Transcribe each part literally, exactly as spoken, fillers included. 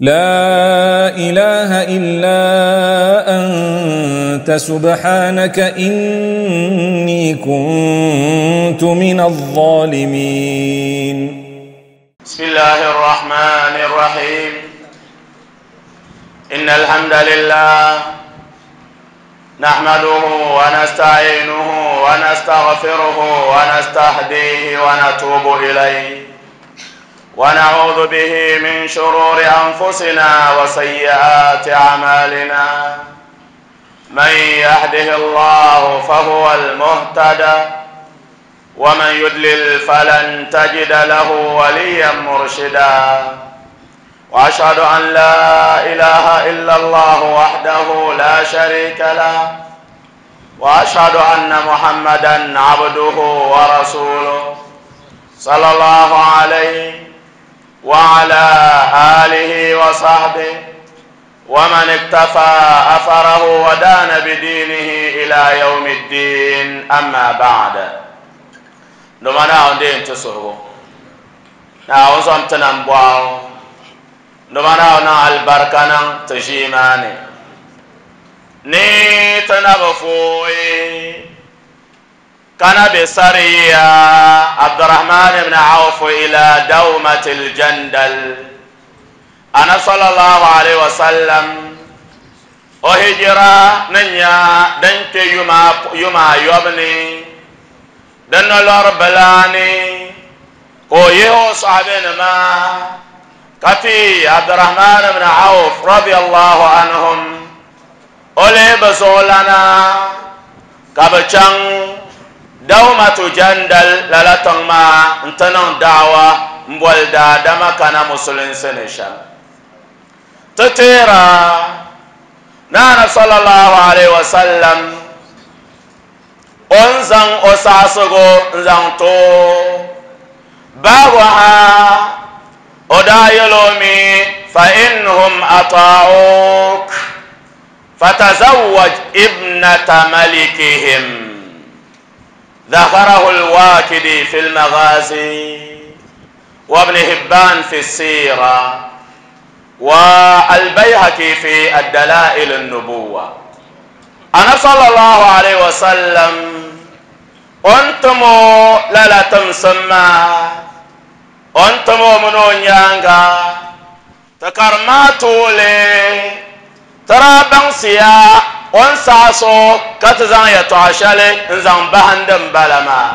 لا إله إلا أنت سبحانك إني كنت من الظالمين. بسم الله الرحمن الرحيم. إن الحمد لله نحمده ونستعينه ونستغفره ونستهديه ونتوب إليه ونعوذ به من شرور أنفسنا وسيئات أعمالنا. من يهده الله فهو المهتدى ومن يضلل فلن تجد له وليا مرشدا. وأشهد أن لا إله إلا الله وحده لا شريك له وأشهد أن محمدا عبده ورسوله صلى الله عليه وعلى آله وصحبه ومن اكتفى أثره ودان بدينه إلى يوم الدين. أما بعد، نمنا عندين تسرو نعوزم تنبواو نمنا عنا البركة تجيماني ني تنبفوي كان بسرية عبد الرحمن بن عوف إلى دومة الجندل. أنا صلى الله عليه وسلم وهجرة ننيا دنك يما يما يبني دن الأربلاني ويهو صحابين ما كفي عبد الرحمن بن عوف رضي الله عنهم أولي بزولنا كبچان دومة جندل لالتن ما انتنن دعوة مبولدا دما كان مسلم سنشا تتيرا نانا صلى الله عليه وسلم انزن اساسغو انزن تو باغوها ودايلومي فإنهم أطاعوك فتزوج ابنة ملكهم. ذكره الواكدي في المغازي وابن هبان في السيرة والبيهقي في الدلائل النبوة. أنا صلى الله عليه وسلم أنتم لا تمسمى أنتم منو نيانغا تكرماتو لي ترى بانسيا on saaso ka ti zaŋ yɛltɔɣa shɛli n zaŋ bahindi n bala maa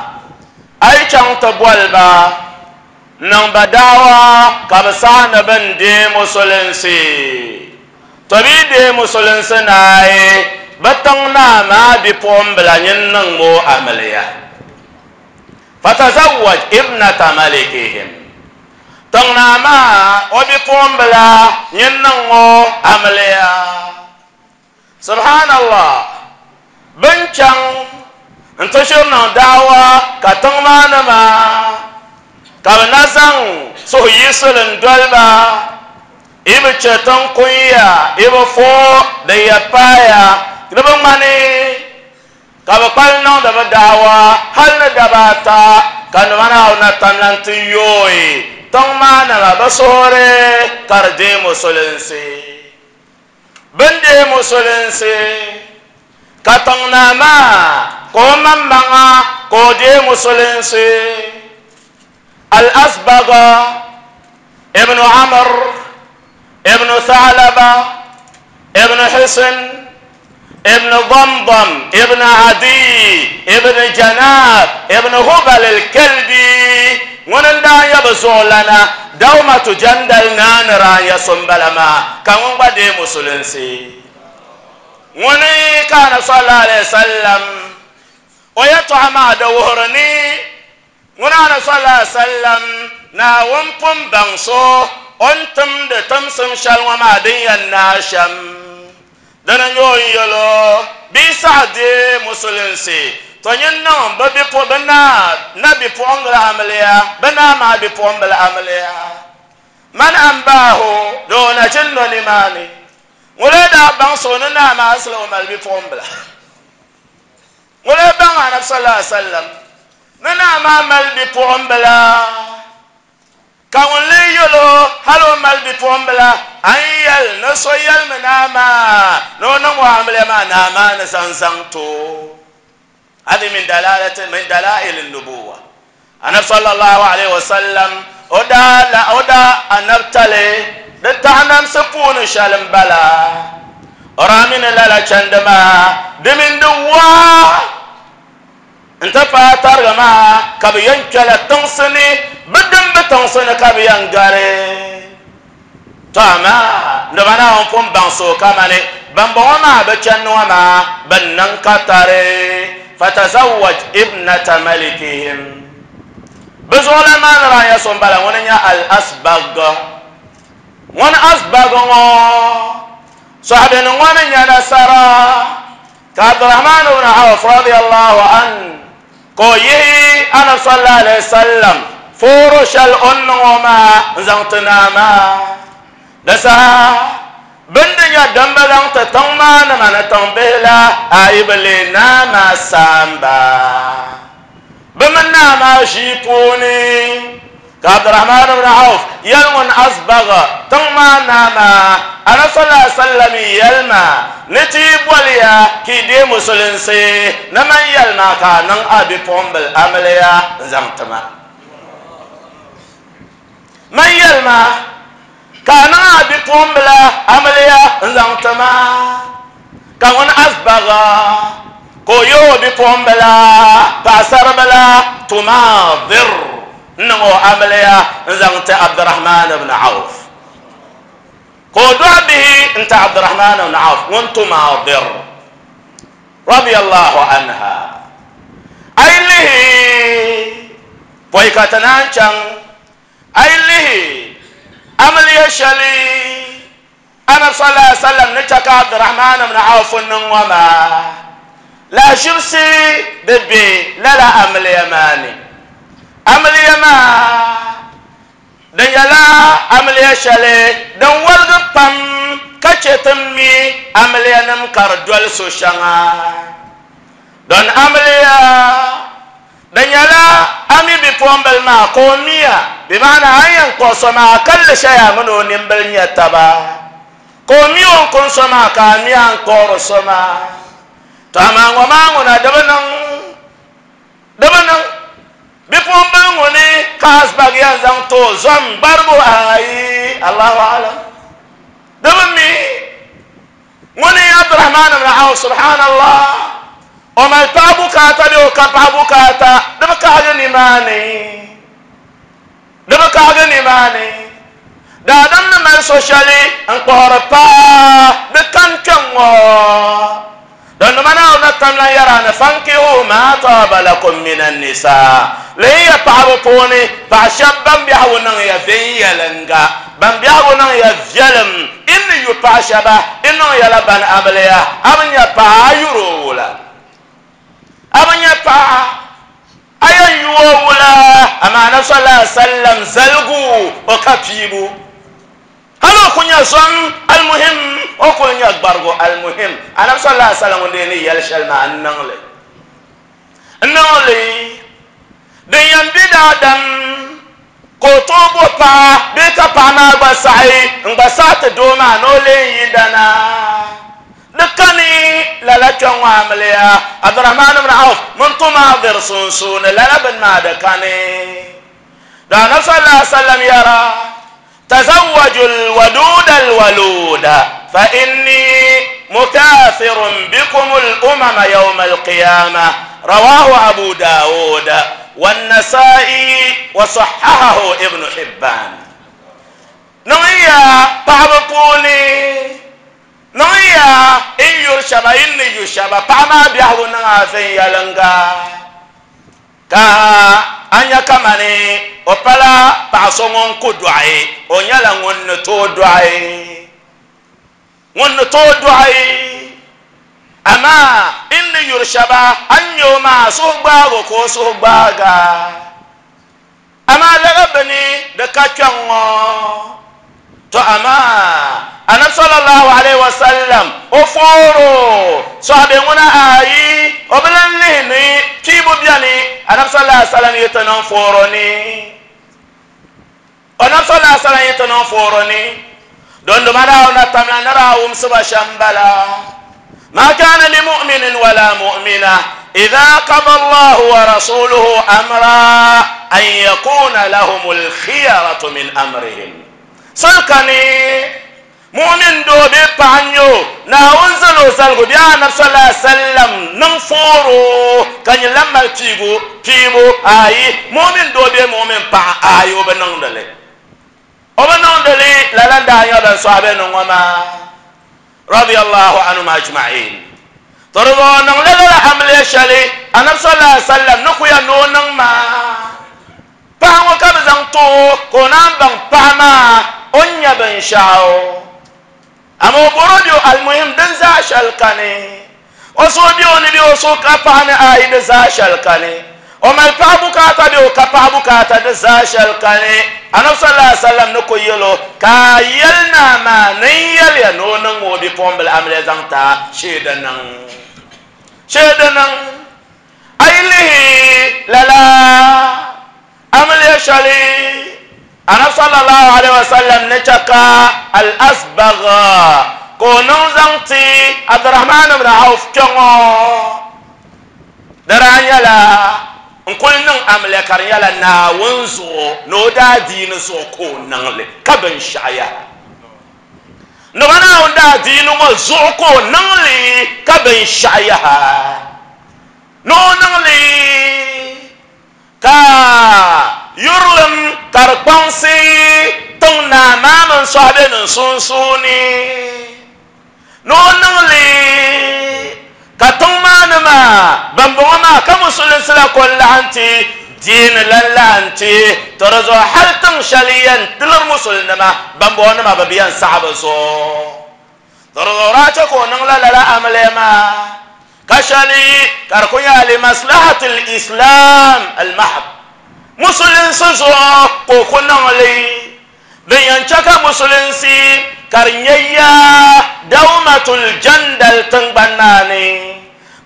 a yi chaŋ ti boli ba niŋ ba daawa ka bi saɣa ni bin deei musulinsi to bi deei musulinsi naai bi tiŋ naa maa bipuɣimbila nyin niŋ mo amiliya fatazawwaj ibnata malikihim tiŋ naa maa o bipuɣimbila nyin niŋ mo amiliya. Subhanallah, bin chaŋ n-ti shiri niŋ daawa ka tiŋ maa nima ka bɛ na zaŋ suhuyiɣisili n-doli ba i bi che tiŋ kunya i bi fo din ya paaya di bi ŋmani ka bɛ kpali niŋdi bɛ daawa hali ni daba ata ka nima Naawuni na tamla n-ti yooi tiŋ maa nima bɛ suhuri ka di deei musulinsi. Binde musulinsi ka tiŋ naa maa ka o maŋmaŋa ka o deei musulinsi. Al-Asbaga ibnu Amr ibnu Thalaba ibnu Hisn ibnu Damdam ibnu Adi ibnu Janab ibnu Hubal al-Kalbi ŋuni n-daa nyɛ bɛ zuɣulana dawmatu jandal naa ni daa nyɛ sumbala maa ka ŋun gba deei musulinsi. Ŋuni ka Anabi sallallahu alayhi wa sallam o yɛltɔɣa maa di wuhiri ni ŋuni Anabi sallallahu alayhi wa sallam Naawuni pun baŋ so o ni timdi timsim shɛli ŋɔ maa din yɛn naai shɛm dini n-nyɛ o ni yɛl o bia saɣa deei musulinsi to nyin niŋ bɛ bipuɣ bɛ naa na bipuɣimbila amiliya bɛ naa maa bipuɣimbila amiliya man ambaahu doo na chin no nimaani ŋun daa baŋ so ni naa maa asili o mali bipuɣimbila ŋun baŋ Anabi sallallahu alaihi wasallam ni naa maa mali bipuɣimbila Ka ŋun lee yɛlo hali o mali bipuɣimbila a ni yɛli ni so yɛlimi naa maa ni o niŋ o amiliya maa naa maa ni zaŋ zaŋ to hadi min dalalati min dalail nubuwa anabi sallallahu alaihi wasallam o daa la o daa anabtali di taɣanamsi puuni shɛli n bala o daa mi ni lala chandi maa di mini di waa n ti paai tariga maa ka bi yɛn kpɛla tiŋsi ni bi din bi tiŋsi ni ka bi yɛn gari to amaa noba naawuni pun baŋsi o kamani bambɔŋɔ maa bi chani ŋɔ maa bi niŋ ka tari fatazawwaj ibnata malikihim bi zuɣulan maa ni daa nyɛ so n bala ŋuni nyɛ al asbag ŋuni asbag ŋɔ sahabini ŋɔ ni nyɛ nasara ka Abdurrahman ibn Awf radiyallahu an ka o yihi anabi sallallahu alayhi wa sallam fooro shɛli o ni niŋ o maa n zaŋ ti naa maa di saha bini di nyɛ din bi zaŋ ti tiŋ maa nima ni tiŋ bihi la a yi bi leei naa maa saamba bi mini naa maa ʒii puuni ka Abdurrahman ibn Awf yɛli ŋun asbaga tiŋ maa naa maa anabi sallallahu alaihi wasallam yɛlima ni ti yi boliya ka yi deei musulinsi ni man yɛlima ka a niŋ a bipuɣimbili amiliya n zaŋ ti ma man yɛlima ka a niŋ a bipuɣimbila amiliya n zaŋ ti ma ka ŋun asbaga ka o yi o bipuɣimbila paɣasaribila tumadir n niŋ o amiliya n zaŋ ti Abdurrahman ibn Awf ka o dɔɣi bihi n ti Abdurrahman ibn Awf ŋun tumadir radiyallahu anha a yi lihi pɔi ka ti naan chaŋ a yi lihi amiliya shɛli anabi sallallahu alaihi wasallam ni chɛ ka Abdurrahman ibn Awf niŋ ŋɔ maa laʒibisi di be lala amiliya maa ni amiliya maa di nyɛla amiliya shɛli din woligi pam ka chɛ ti mi amiliya nim ka di doli so shɛŋa don amiliya di nyɛla a mi bipuɣimbili maa ka o miya bi maana a ni yɛn kpuɣi so maa kalli shɛya mini o nimbili nyɛ taba ka o mi o ni kuni so maa ka a mi a ni kpuɣiri so maa to amaa ŋɔ maa ŋuna di bi niŋ di bi niŋ bipuɣimbili ŋuni ka asbag yɛn zaŋ ti o zom gbarigu ayi Allahu alam di bi mi ŋuni Abdurrahman ibn Awf subhanallah o mali paɣa bukaata bee o ka paɣa bukaata di bi kahigi nimaani di bi kahigi nimaani daadam ni mali so shɛli n kpuɣiri paɣa di kan kpɛŋ ŋɔ don nima naawuni na tam lan yɛra ni fankihu ma taaba lakum min annisa lihi ya paɣaba puuni paɣa shɛba ban biɛhigu niŋ ya viɛnyɛlinga ban biɛhigu niŋ ya viɛlim in ni yu paɣa shɛba in niŋ yɛla ban amiliya a bi nyɛ paɣa a yuri o wula a bi nyɛ paɣa a yɛn yu o wula amaa anabi sallallahu alaihi wasallam zaligu o ka piibu hali o ku nyɛ zom almuhim o ku nyɛ gbarigu almuhim anabi sallallahu alaihi wasallam ŋun dee ni yɛli shɛli maa n niŋli n niŋli din yɛn bi daadam ka o tooi bo paɣa bee ka paɣa maa gba saɣi n gba saɣi ti doo maa ni o lee yidana di kani lala kpɛŋ ŋɔ amiliya Abdurrahman ibn Awf min tumadir sunsuuni lala bini maa di kani do anabi sallallahu alaihi wasallam yɛra تزوجوا الودود الولود فإني مكاثر بكم الأمم يوم القيامة رواه أبو داود والنسائي وصححه ابن حبان نغيا بعض نغيا إن يرشب إن يرشب فما بيهو نغافين يلنغا ka an nya kamani o pala paɣa so ŋun ku dɔɣi o nyɛla ŋun ni tooi dɔɣi ŋun ni tooi dɔɣi amaa in ni yuri shɛba an nyɛ o maa suhu gbaago ka o suhu gbaaga amaa lala bini di ka kpɛŋ ŋɔ to amaa anabi sallallahu alaihi wasallam o fooro sahabe ŋuna ayi o bi lan lihi ni piibu biɛni anabi sallallahu alaihi wasallam yi ti niŋ fooro ni Annabi sallallahu alaihi wasallam yitana foroni don do mara ona tamla nara um suba shambala ma kana li mu'minin wala mu'mina idha qada Allahu wa rasuluhu amra an yakuna lahumul khiyaratu min amrihim sulkani mu'min do be panyo na unzalo zalgo bi annabi sallallahu alaihi wasallam nan foro kan lamal tigo tibo ayi mu'min do be mu'min pa ayi o be nan dale o be nan dale la la da ya dan sahabe no ngoma radiyallahu anhum ajma'in torgo nan la la amle shali annabi sallallahu alaihi wasallam no ku ya no nan ma pa ngo ka bazang to ko nan bang pa ma onya ben shao amo borodio almuhim din za shalkane oso bio ni bio so ka pa ni ayi de za shalkane o mal pa bukata bio ka pa bukata de za shalkane annabi sallallahu alaihi wasallam no ko yelo ka yelna ma ni yel ya no nan wo bi pombel amle zanta sheda nan sheda nan aylihi lala amle shali annabi sallallahu alaihi wasallam ne chaka al asbagha ko non zanti Abdurrahman ibn Auf chongo daranya la nkul nan amle karyala na wunzo no da dini so ko nan le kaban shaya no bana onda dini mo zo ko nan le kaban shaya no nan le ka yurlum karkwansi tong na maman sahabe nan sun suni no nan le ka tong ma ma bambo ma ka musulun sila ko lanti din lanti tarazo hal tang shaliyan dilar musulma bambo ma babiyan sahaba so tarazo racha ko nan la la amle ma kashali karkunya li maslahatil islam al mahab musulun so ko kunan le bin yancaka musulunsi karnyayya dawmatul jandal tangbanani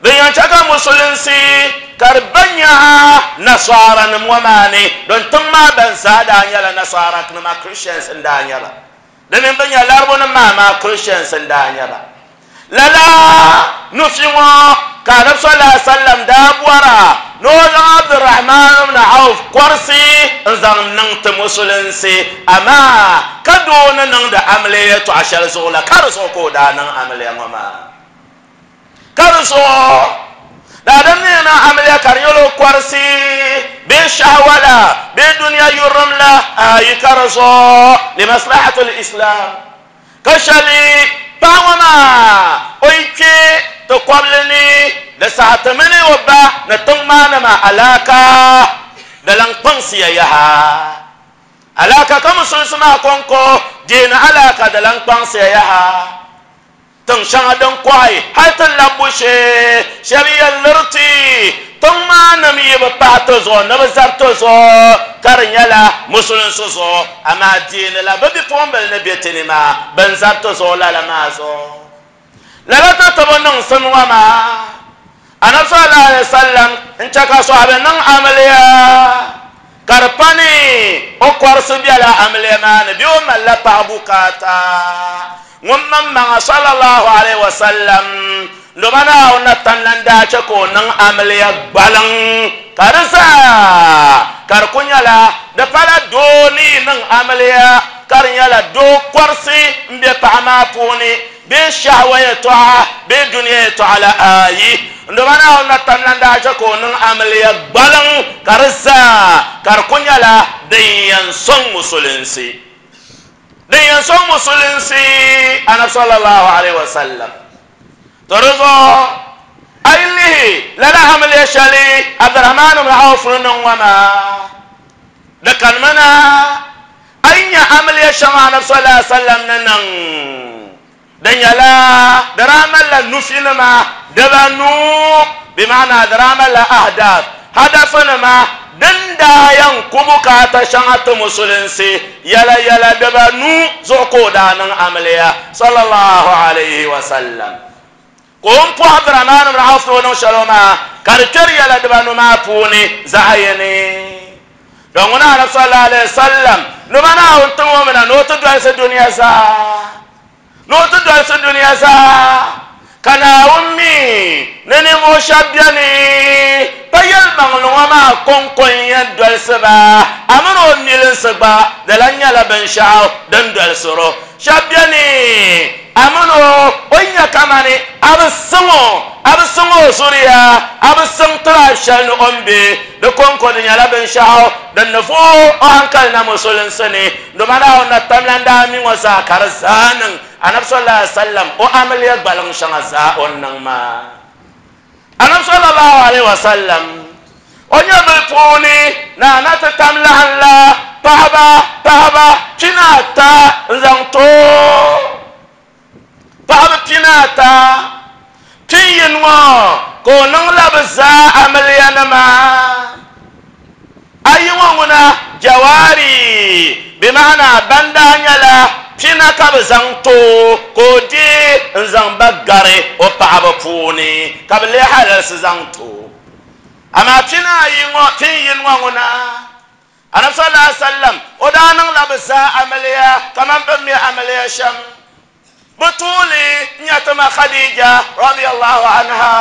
bin yancaka musulunsi karbanya nasara namwamani don tumma ban sada nyala nasara kuma Christians nda nyala domin ban ya larbo na mama Christians nda nyala lala nufiwa ka nabi sallallahu alaihi wasallam da buwara no Abdurrahman ibn Auf kwarsi zan nan ta musulunsi amma ka dona nan da amle ya to ashar zola kar so ko da nan amle ngoma kar so da dan ne na amle karyolo kwarsi be shahwala be dunya yurmla ay kar so li maslahatul islam kashali pawama oike to kwablini da sa'atamini wabba na tungmana ma alaka da langpansiya yaha alaka ka musulunsi ma konko dina alaka da langpansiya yaha tun shanga don kwai har tun lambushe shari'ar lurti tungmana mi yi ba ta zo na ba zarto zo karin yala musulunsi zo amma dina la babi fombel na betini ma ban zarto zo lalama zo lalata tabo nan sanwa ma annabi sallallahu alaihi wasallam in chaka sahabe nan amaliya karpani o kwarsu biala amaliya ma ne biyo malla pa bukata ngomman ma sallallahu alaihi wasallam ndo bana ona tannan da chako nan amaliya balan karsa karkunyala da fala doni nan amaliya karnyala do kwarsi mbe pa ma puni be shahwa ya to'a be duniya ya to'a la ayi ndo bana ona tannan da chako nan amaliya balan karsa karkunyala den son musulunsi den son musulunsi ana sallallahu alaihi wasallam torzo aylihi lala amaliya shali Abdurrahman ibn Auf nan wama da kalmana anya amaliya shama ana sallallahu alaihi wasallam nan dan yala daramal la nufina ma dabanu bima'ana daramal la ahdaf hadafana ma dan da yan kubuka ta shanatu musulunsi yala yala dabanu zoko da nan amaliya sallallahu alaihi wasallam ko on po Abdurrahman ibn Auf no shaloma karkar yala dabanu ma puni zahayene Don ŋuna Anabi sallallahu alaihi wasallam nima Naawuni tiŋ o mina ni o ti dolisi duniya zaa ni o ti dolisi duniya zaa ka Naawuni mi ni ninvuɣu shɛba beni pa yɛlimaŋli ŋɔ maa kɔŋko n-yɛn dolisi ba a mini o milinsi gba di lan nyɛla binshɛɣu din dolisiro shɛba beni a mini o o nya kamani a bi siŋ o a bi siŋ o zuriya a bi siŋ tribe shɛli ni o ni be di kɔŋko di nyɛla binshɛɣu din ni vuhi o hankali na musulinsi ni dama Naawuni na tamla daa mi ŋɔ zaa ka di zaa niŋ Anabi sallallahu alaihi wasallam o amiliya gbaliŋ shɛŋa zaa o ni niŋ maa Anabi sallallahu alaihi wasallam o nyɛ bili puuni na na ti tam lahin la paɣaba paɣaba pina ata n zaŋ to paɣaba pina ata pin yini ŋɔ ka o niŋ la bi zaa amiliya nima ayi ŋɔ ŋuna jawari bi maana ban daa nyɛla pina ka bi zaŋ to ka o deei n zaŋ ba gari o paɣaba puuni ka bi lee halalisi zaŋ to amaa pina ayi ŋɔ pin yini ŋɔ ŋuna Anabi sallallahu alaihi wasallam o daa niŋ la bi zaa amiliya kaman bin mi amiliya shɛm bi tuuli n nyɛ tima Khadija radiyallahu anha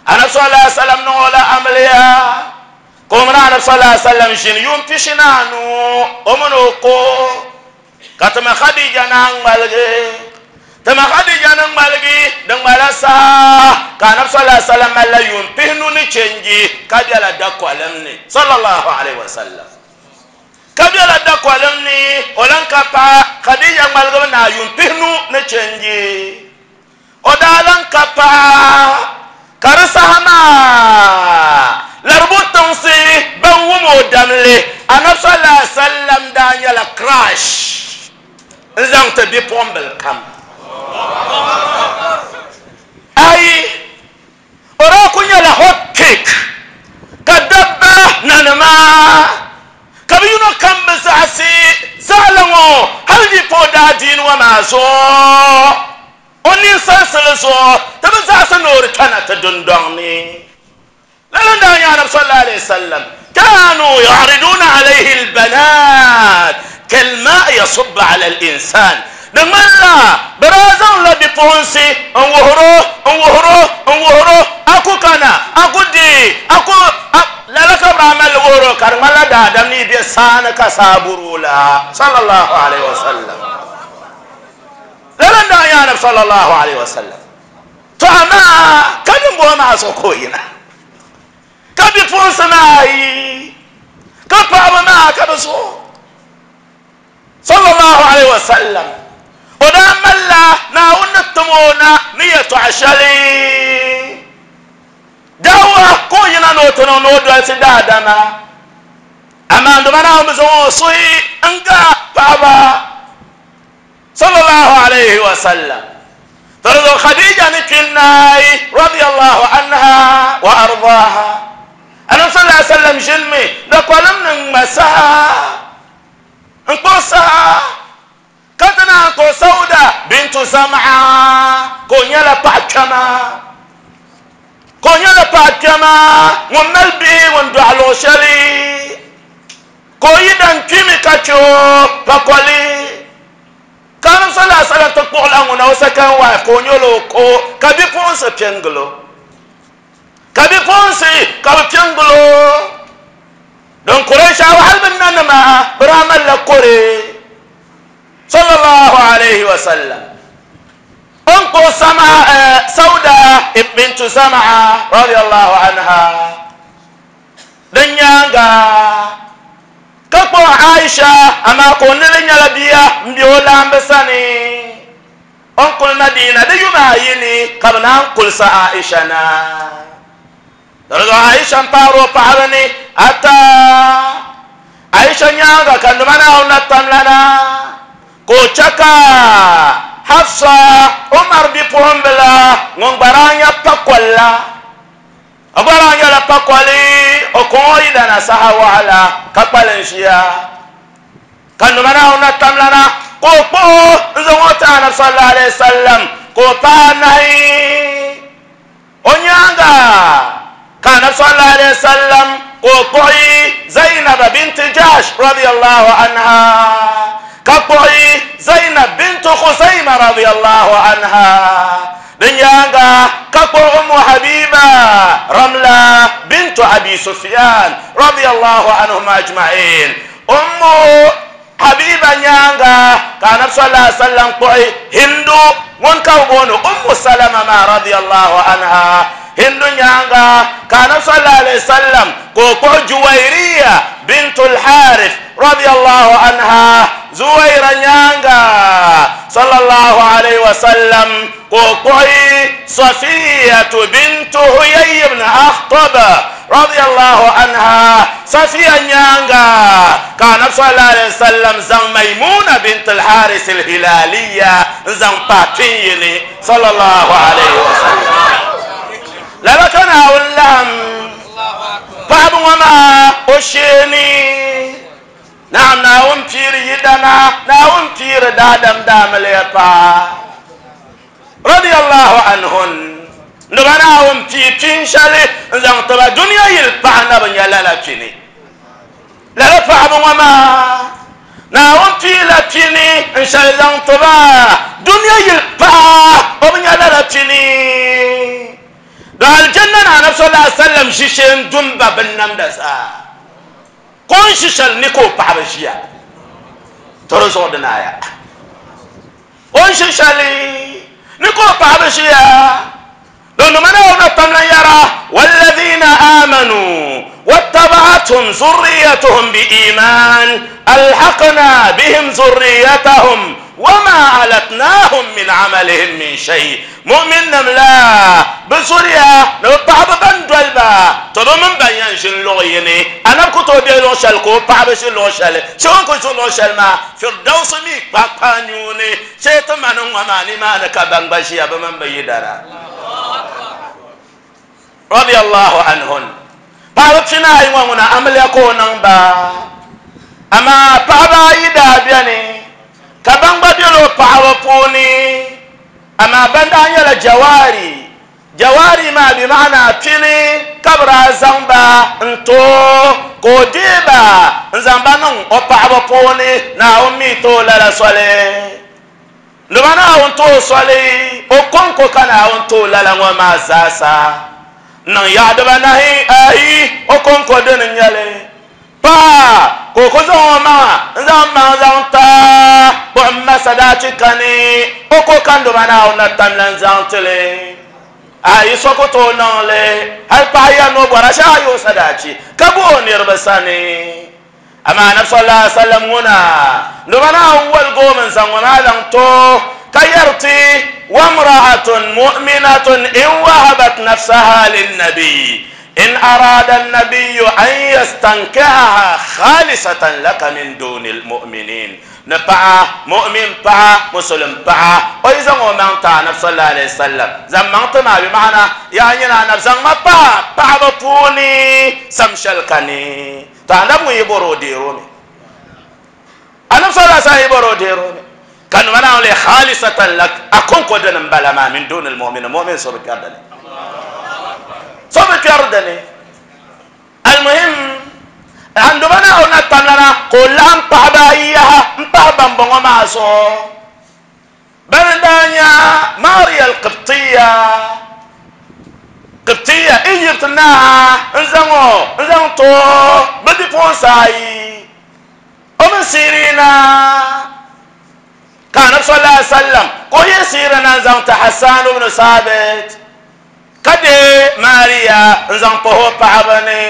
Anabi sallallahu alaihi wasallam niŋ o la amiliya ka o mini Anabi sallallahu alaihi wasallam ʒini yuun pishi ni anu o mini o ko ka tima Khadija naan ŋmaligi tima Khadija ni ŋmaligi di ŋmala saha ka Anabi sallallahu alaihi wasallam malila yuun pihinu ni chenji ka bela dakolim ni sallallahu alaihi wasallam ka bela dakolim ni o lan ka paɣa Khadija ŋmaligibu na yuun pihinu ni chenji o daa lan ka paɣa ka di saha maa laribu tiŋsi ban wum o damli Anabi sallallahu alaihi wasallam daa nyɛla crash n zaŋ ti bipuɣimbili kam ayi o daa ku nyɛla hot cake ka dabba nanima ka bi yino kam bi zaɣasi zaɣali ŋɔ hali di pa o daa diini ŋɔ maa zuɣu o ninsansili zuɣu ti bi zaɣasi ni o di kana ti dundɔŋ ni lala daa nyɛ Anabi sallallahu alaihi wasallam kanu yu'riduna alayhi albanat kalma yasub ala al-insan di ŋmanila bi daa zaŋla bipuɣunsi n wuhiro n wuhiro n wuhiro a ku kana a ku deei a ku lala ka bi daa mali wuhiro ka di ŋmanila daadam ni be saani ka saa buru la sallallahu alaihi wasallam lala daa nyɛ Anabi sallallahu alaihi wasallam to amaa ka din bɔŋɔ maa zuɣu ka o yina ka bipuɣunsi maa yi ka paɣaba maa ka bi zuɣu sallallahu alaihi wasallam o daa malila Naawuni ni tim o na ni yɛltɔɣa shɛli daawa ka o yina ni o ti niŋ ni o dolisi daadama amaa dama Naawuni bi zaŋ o suhi n ga paɣaba sallallahu alaihi wasallam فرض خديجة نكناي رضي الله عنها وأرضاها أنا صلى الله عليه وسلم جلمي لقلم نمسها نقصها كتنا كو سودة بنت زمعة كونيلا باكما كونيلا باكما ومال بي وندعلو شلي كويدا كيمي كاتشو باكولي كان صلى الله عليه وسلم تقول أنه وسكن وايف كونيولو كو كبي فونس بينغلو كبي فونس كبي بينغلو دون قريش وحل بننا ما برامل لكوري صلى الله عليه وسلم أنكو سمع سودة بنت سمعة رضي الله عنها دنيانغا كبو عائشة أما كون لن يلبيا مبيولا بساني أنكل مدينة دي يمايني قبل أنكل سعائشة نا درجو عائشة مبارو فعلني أتا عائشة نيانغا كان دمانا ونطم لنا كوشكا حفصة عمر بيقوم بلا نغبرانيا بقولا أغبرانيا لبقولي أكوي دنا سها وعلا كقبلن شيا كان دمانا ونطم لنا كوكو نزوتانا صلى الله عليه وسلم كوباناي أنيانغا كان صلى الله عليه وسلم Kpuɣi Zainab binti Jahsh radiyallahu anha ka kpuɣi Zainab bintu Khuzaima radiyallahu anha din nyaaŋa ka kpuɣi Ummu Habiba Ramla bintu Abi Sufyan radiyallahu anhum ajma'in. Ummu Habiba nyaaŋa ka Anabi sallallahu alaihi wasallam kpuɣi Hindu ŋun ka bi booni Ummu Salama maa radiyallahu anha. Hindu nyaaŋa ka Anabi sallallahu alaihi wasallam ka o kpuɣi Juwairiya bintu al-Harith radiyallahu anha. Zuwaira nyaaŋa sallallahu alaihi wasallam ka o kpuɣi Safiyatu bintu Huyay ibn Akhtab radiyallahu anha. Safiya nyaaŋa ka Anabi sallallahu alaihi wasallam zaŋ Maimuna bint al-Haris al-Hilaliya n zaŋ pahi pin yini sallallahu alaihi wasallam. Lala ka Naawuni laɣim paɣaba ŋɔ maa o sheeni. Naam, Naawuni piiri yidana, Naawuni piiri daadam daamiliya paɣa radiyallahu anhun. Noba Naawuni pii pin shɛli n zaŋ tiba duniya yili paɣa na bi nya lala pini. Lala paɣaba ŋɔ maa Naawuni piila pini n shɛli zaŋ tiba duniya yili paɣa o bi nya lala pini. Do aljanna na Anabi sallallahu alaihi wasallam ʒi shee n dumba binnamda zaa ko n ʒi shɛli ni ka o paɣaba ʒiya to di zuɣu dina aya o n ʒi shɛli ni ka o paɣaba ʒiya do nima na o na pamla yara walladhina amanu wattaba'athum zurriyatuhum biiman alhaqna bihim zurriyatahum وما ألتناهم من عملهم من شيء. مؤمن نملا بسوريا نبعب بندولبا تبا من بيان شن لغيني أنا كنت بيلو شلكو بعب شن لغشل شون كنت لغشل ما فردوس ميك بابانيوني شيط منو وماني ما نكبان بشي أبا من بيدارا رضي الله عنهن. بعب شنا يوانا عمل يكون با أما بعب يدا بياني ka ban gba bela o paɣaba puuni amaa ban daa nyɛla jawari. Jawari maa bi maana pini ka bi daa zaŋ ba n to ka o deei ba n zaŋ ba niŋ o paɣaba puuni. Naawuni mi to o lala soli noba Naawuni to o soli o kɔŋko ka Naawuni to o lala ŋɔ maa zaasa n niŋ yaɣadiba nahi ayi o kɔŋko dini n nyɛli paa ka o ku zaŋ o maŋa n zaŋ maŋ zaŋ ta buɣum masadachi kani o ko ka ndoba Naawuni na tamla n zaŋ tili ayi so ku tooi niŋli hali paɣa yɛn ni o bɔra shee ayi o sadachi ka bo o niriba sani. Amaa Anabi sallallahu alaihi wasallam ŋuna ndoba Naawuni woligi o mi n zaŋ o maa zaŋ to ka yɛri ti wamra'atun mu'minatun in wahabat nafsaha linnabiy إن أراد النبي أن يستنكحها خالصة لك من دون المؤمنين. نبع مؤمن بع مسلم بع وإذا ما أنت صلى الله عليه وسلم زمان ما بمعنى يعني أنا زمان بع بع بفوني سمشلكني تعلم يبرو ديروني أنا صلى الله عليه وسلم يبرو ديروني كان معناه خالصة لك أكون قدنا بلا ما من دون المؤمن المؤمن سبب كردني سبب كردني. المهم عندما نقول تملنا قل أم بابايها بابا بغماسو بلدانيا ماريا القبطية قبطية إيجبتنا نزمو نزمتو بدي فونساي ومن سيرينا كان صلى الله عليه وسلم قل سيرنا نزمت حسان بن ثابت kade Maria nzang poho paɣaba ni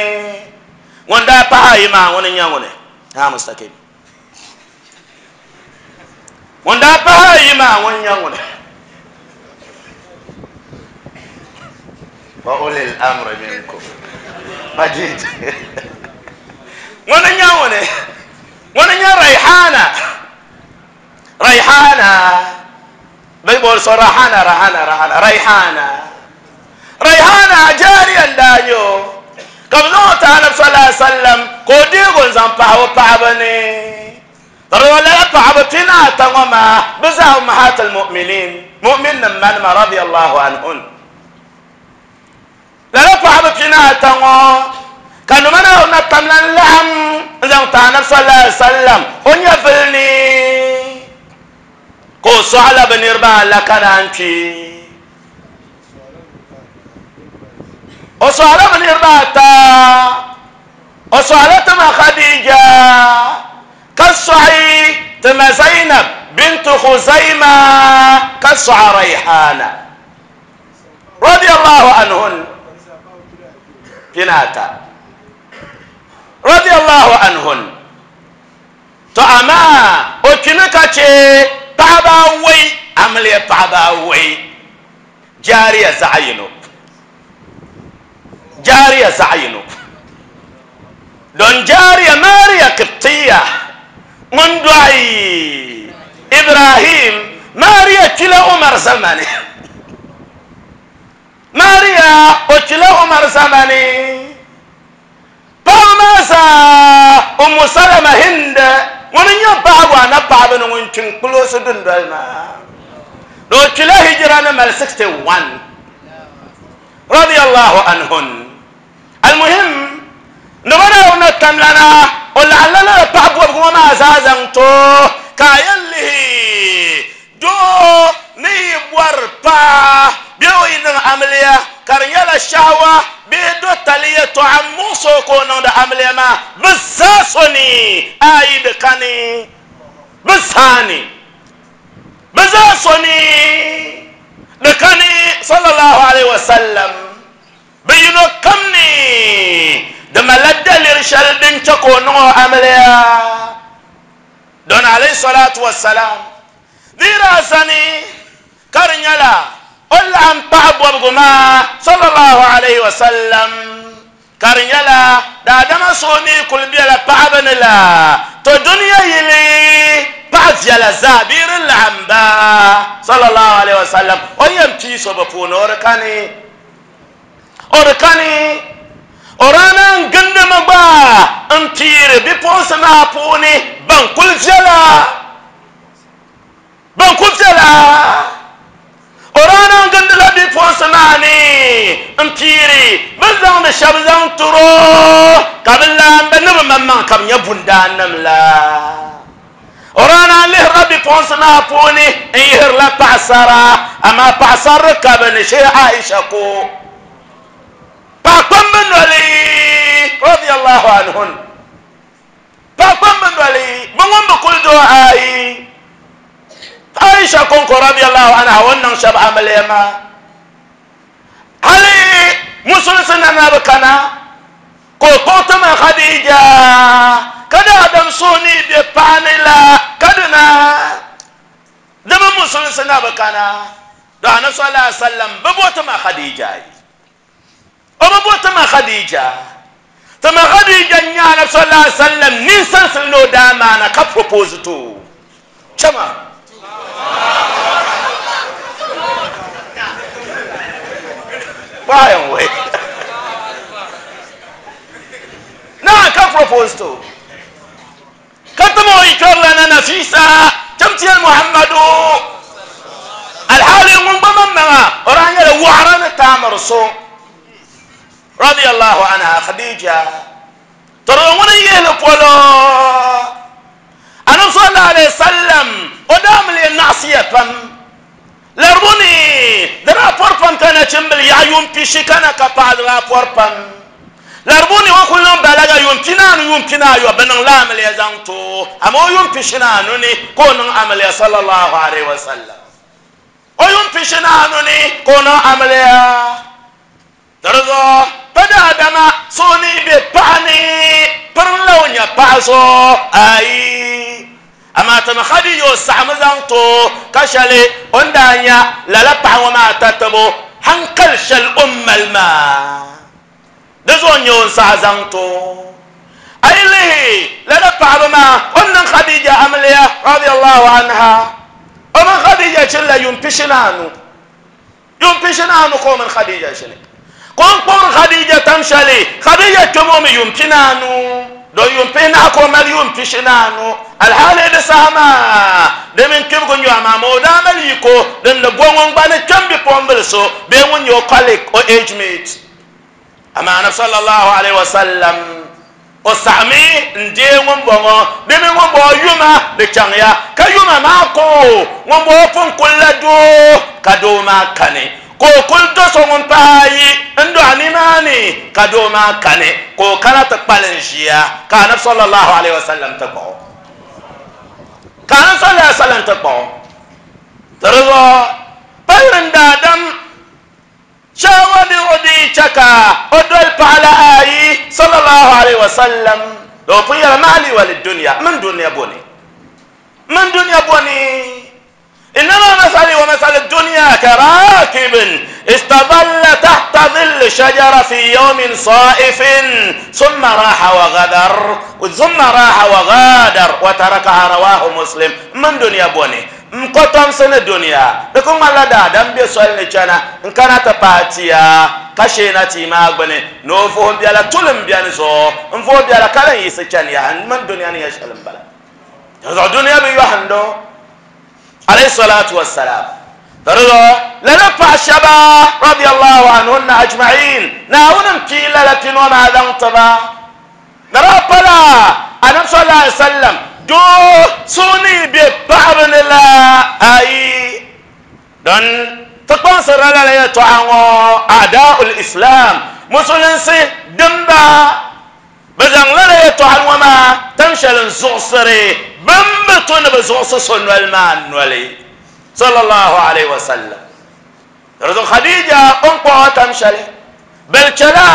ŋun daa pahi ayi maa ŋuni n nyɛ ŋuni ha mustaqim ŋun daa pahi ayi maa ŋuni n nyɛ ŋuni wa ulil amri minkum majid ŋuni n nyɛ ŋuni ŋuni n nyɛ Rayhana Rayhana bai bol so Rahana Rahana Rahana Rayhana Rayhana jariyan daanyo ka bi zaŋ o ti Anabi sallallahu alaihi wasallam ka o deegi o n zaŋ pahi o paɣaba ni lala paɣaba pina ata ŋɔ maa bi zaa ummahatul mu'minin mu'min nim manima radiyallahu anhun lala paɣaba pina ata ŋɔ Ka numa na tamlan lahm zaŋ ti anabi sallallahu alaihi wasallam o nyɛvili ni ka o sɔɣila bi niriba alaka naan kpi o sɔɣila bi niriba ata o sɔɣila tima Khadija ka sɔɣi tima Zainab bintu Khuzaima ka sɔɣi Rayhana radiyallahu anhun pinata radiyallahu anhun to amma o kpimi ka che paɣaba awai amiliya paɣaba awai jaariya zaɣ yino jaariya zaɣ yino don jaariya Mariya Qibtiya ŋun dɔɣi Ibrahim Mariya kpila Umar zamani Mariya o kpila Umar zamani paɣaba maa zaa Ummu Salama Hind ŋun nyɛ paɣaba ana paɣaba ni ŋun kpi n-kpuloosi dundoli maa o kpila hijira ni mali sixty one radiyallahu anhun almuhim nima na tamlana o laɣimla lala paɣa bɔbigu ŋɔ maa zaa zaŋ to ka a yɛn lihi doo ni yi bɔri paɣa bee o yi niŋ amiliya ka di nyɛla shahawa bee do tali yɛltɔɣa muɣusi o ka o niŋdi amiliya maa bi zaa so ni a yi di kani bi zaa ni bi zaa so ni di kani sallallahu alaihi wasallam bi yino kam ni di malila daliri shɛli din chɛ ka o niŋ o amiliya don alayhi salatu wassalam di daa zani ka di nyɛla o laɣim paɣa bɔbigu maa sallallahu alayhi wasallam ka di nyɛla daadama so mi kuli bela paɣaba ni la to duniya yili paɣa viɛla zaa bee di laɣim ba sallallahu alayhi wasallam o yɛn pii so bi puuni o di kani o di kani o daa n gindimi gba n piiri bipuɣunsi maa puuni ban kuli viɛla ban kuli viɛla o daa n gindila bipuɣunsi maa ni n piiri bi zaŋdi shɛba zaŋ turo ka bi laamba ni bi maŋmaŋ ka bi nyɛ bundaannim la o daa n lihirila bipuɣunsi maa puuni n yihirila paɣasara amaa paɣasarili ka bi ni shee Aisha ko paɣa kpamba noli radiyallahu anhun paɣa kpamba noli bi ŋun bi kuli doo ayi Aisha konko radiyallahu anha o niŋ shɛba amiliya maa hali musulisi nana bi kana ka o kpuɣi tima Khadija ka daadam suhu ni be paɣa ni la ka dina di bi musulisi na bi kana do anabi sallallahu alaihi wasallam bi bo tima Khadija yi o bi bo tima Khadija tima Khadija n-nyɛ anabi sallallahu alaihi wasallam ninsansili ni o daa maana ka propose to chama bayan wai na ka propose to ka tuma o ikar lana Nafisa tamtiyal Muhammadu alhali ŋun gba maŋmaŋa o daa nyɛla waɣara ni taamiri so radiyallahu anha Khadija tɔrɔ ŋuni yihili polo anabi sallallahu alaihi wasallam o daa mili naɣasiya pam laribu ni di daa pɔri pam ka nachimbili yaɣa yuun pishi kana ka paɣa di daa pɔri pam laribu ni o kuli niŋ balaga yuun pinaanu yuun pinaayɔ bi niŋ la amiliya zaŋ to amaa o yuun pishi naanu ni ka o niŋ amiliya sallallahu alaihi wasallam o yuun pishi naanu ni ka o niŋ amiliya di zuɣu pa daadama so ni be paɣa ni pirinla o nyɛ paɣa zuɣu ayi amaa timi Khadija o saɣami zaŋ to ka shɛli o ni daa nya lala paɣa ŋɔ maa tatabo hankali shɛli o ni mali maa di zuɣu n nyɛ o ni saɣa zaŋ to a yi lihi lala paɣaba maa o ni niŋ Khadija amiliya radiyallahu anha o mini Khadija chinila yuun pishi ni anu yuun pishi ni anu ka o mini Khadija shini ko n kpuɣiri Khadija tam shɛli Khadija kpɛmo mi yuun pinaanu don yuun pinahi ka o mali yuun pishi ni anu alhaali di saha maa di mini kpibigu nyɔ amaa ma o daa mali yiko din ni bo ŋun gba ni kpɛm bipuɣimbili so bee ŋun nyɛ o colleague o age mate Amaa anabi sallallahu alaihi wasallam o saɣami n deei ŋun bɔŋɔ di mi ŋun bɔŋɔ yuma di chaŋya ka yuma maa ko ŋun bɔŋɔ pun kuli la doo ka doo maa kani ka o kuli do so ŋun pahi ayi n dɔɣi nimaani ka doo maa kani ka o kana ti kpalim ʒiya ka anabi sallallahu alaihi wasallam ti kpuɣi ka anabi sallallahu alaihi wasallam ti kpuɣi ti di zuɣu payiri n daadam shaawa di o di chaka o doli paɣa la ayi sallallahu alaihi wasallam do pun yɛla maali wa lidunya min dunya boni min dunya boni إنما مثلي ومثل الدنيا كراكب استظل تحت ظل شجرة في يوم صائف ثم راح وغدر ثم راح وغادر وتركها رواه مسلم من دنيا بوني n kotomsi ni duniya di ku ŋmanila daadam be soli ni chana n kana ti paai tia ka sheena tia maa gbuni ni o vuhi biɛla tulim biɛni zuɣu n vuhi biɛla ka lan yiɣisi chani yaha mini duniya ni nyɛ shɛli n bala zuɣu duniya bi yɔhindo alayhi salatu wassalam di zuɣu lala paɣa shɛba radiyallahu anhunna ajma'in Naawuni n pii lala pinɔ maa zaŋ tiba di daa pala anabi sallallahu alayhi wa sallam doo suuni be paɣaba ni la ayi don ti kpaŋsirila lala yɛltɔɣa ŋɔ a'da'ul islam musulinsi dimba bi zaŋ lala yɛltɔɣa ŋɔ maa tin shɛli n zuɣusiri bin bi to ni bi zuɣusi so noli maa noli sallallahu alaihi wasallam di zuɣu Khadija o ni kpuɣi o tam shɛli bali chɛla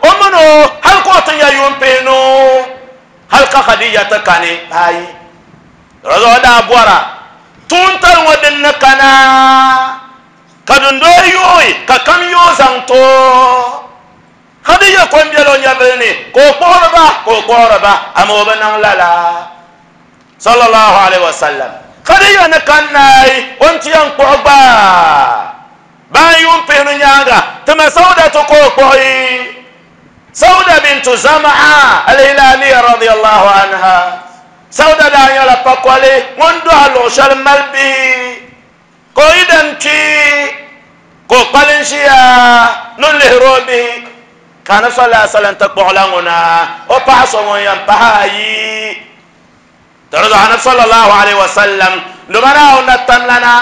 o mini o hali ka o ti nya yuun pihinu hal ka Khadija ti kani ayi di daa bɔra tuuntali ŋɔ din ni kana ka dundoo yooi ka kam yooi zaŋ to Khadija ko n biɛla o nyɛvili ni ka o kpuɣiri ba ka o kpuɣiri ba amaa o bi niŋ lala sallallahu alaihi wasallam Khadija ni kan naai o ni ti yɛn kpuɣi gba bayan yuun pihinu nyaanga ti ma Sauda ti ka o kpuɣi Sauda bintu Zama'a al-Hilaliya radiyallahu anha Sauda daa nyɛla pakoli ŋun dɔɣi luɣ shɛli mali bihi ka o yidan kpi ka o kpalim ʒiya ni o lihiri o bihi ka anabi sallallahu alaihi wasallam ti kpuɣila ŋuna o paɣa so ŋun yɛn pahi ayi di zuɣu anabi sallallahu alaihi wasallam doma Naawuni na tamlana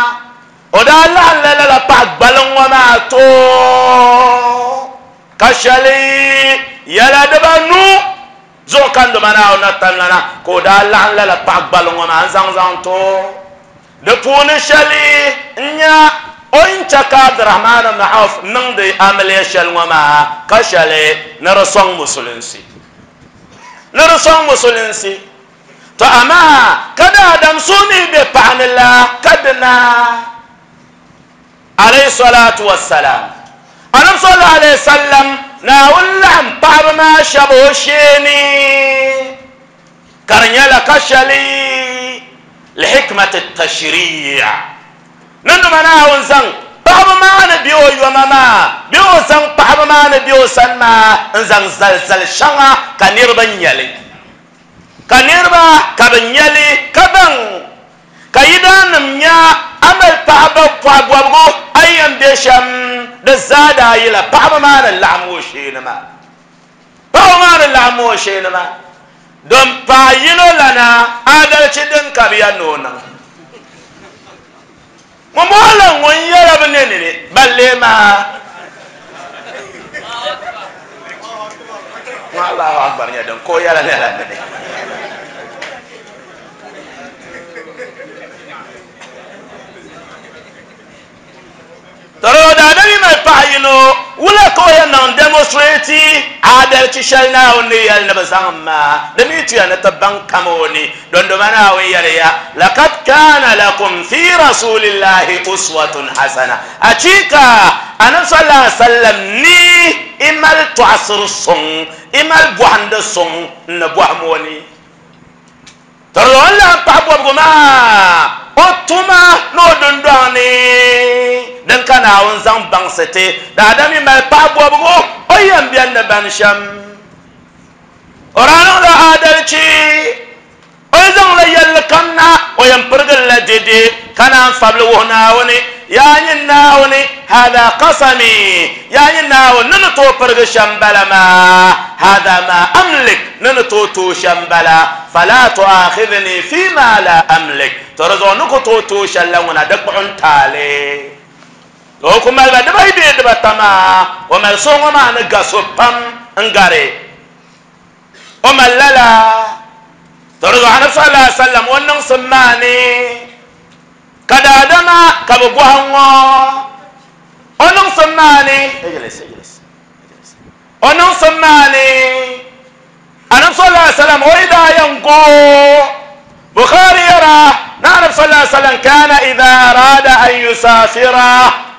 o daa laɣim la lala paɣa gbaliŋ ŋɔ maa to ka shɛli yɛla dibanu zuɣu ka doma Naawuni na tamlana ka o daa laɣim lala paɣa gbaliŋ ŋɔ maa n zaŋ zaŋ to di puuni shɛli n nya o ni chɛ ka Abdurahman ibn Auf niŋdi amiliya shɛli ŋɔ maa ka shɛli ni di sɔŋ musulinsi ni di sɔŋ musulinsi to amaa ka daadam suuni be paɣa ni la ka dina alayhi salatu wassalam anabi sallallahu alayhi wasallam Naawuni laɣim paɣaba maa shɛba o sheeni ka di nyɛla ka shɛli lihikmati tashriic ninduma Naawuni zaŋ paɣaba maa ni be o yoma maa bee o zaŋ paɣaba maa ni be o sani maa n zaŋ zalizali shɛŋa ka niriba nyɛli ka niriba ka bi nyɛli ka baŋ ka yidaannim nya a mali paɣaba bɔbigu a yɛn be shɛm di zaa daa yila paɣaba maa ni laɣim o sheeni maa paɣaba maa ni laɣim o sheeni maa don paɣa yino lana adalchi din ka bi yɛn ni o niŋ ŋun bɔŋɔ la ŋun yɛla bi ne nini balle maa ŋun Allahu akbar nyɛ din ka o yɛla nela nini tɔrɔ daadam yi mali paɣa yino wula ka o yɛn niŋ demonstrate adalchi shɛli Naawuni ni yɛli ni bi zaŋ maa di mi tuya ni ti baŋ kama o ni dondoma Naawuni yɛli ya laqad kana lakum fi rasulillahi uswatun hasana achika anabi sallallahu alaihi wasallam ni i mali tɔɣisiri suŋ i mali bɔhindi suŋ n ni bɔhim o ni tɔrɔ o ni lahi paɣa bɔbigu maa o tuma ni o dundɔŋ ni din ka Naawuni zaŋ baŋsi ti daadam yi mali paɣa bɔbigu o yɛn bɛni ni bani shɛm o daa niŋla adalchi o yi zaŋla yɛlli kam na o yɛn pirigili la dede ka naan fabili wuhi Naawuni yaa nyin Naawuni هذا قسمي يعني ناو ننتو برغ شمبلا ما هذا ما أملك ننتو تو شمبلا فلا تؤاخذني فيما لا أملك ترزو نكو تو شلونا دقعن تالي لو كما دبي بي دبتما وما سونغ ما نغاسو بام انغاري وما لالا ترزو عن صلى الله عليه وسلم ونن سماني كدادما كبوهنغو ونن سماني اجلس اجلس اجلس ونن سماني أنا صلى الله عليه وسلم وإذا ينقو بخاري يرى نعم صلى الله عليه وسلم كان إذا أراد أن يسافر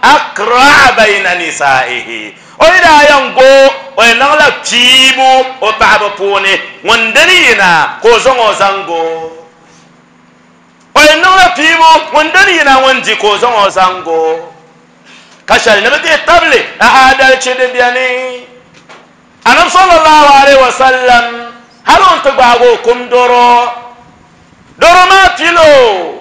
أقرع بين نسائه وإذا ينقو وإنغلا تيبو وطعبوني وندنينا كوزون وزنغو وإنغلا تيبو وندنينا وندي كوزون وزنغو كشال نبدي الطبلي أعادل شدبياني أنا صلى الله عليه وسلم هل أنت بعضكم درو درو ما تلو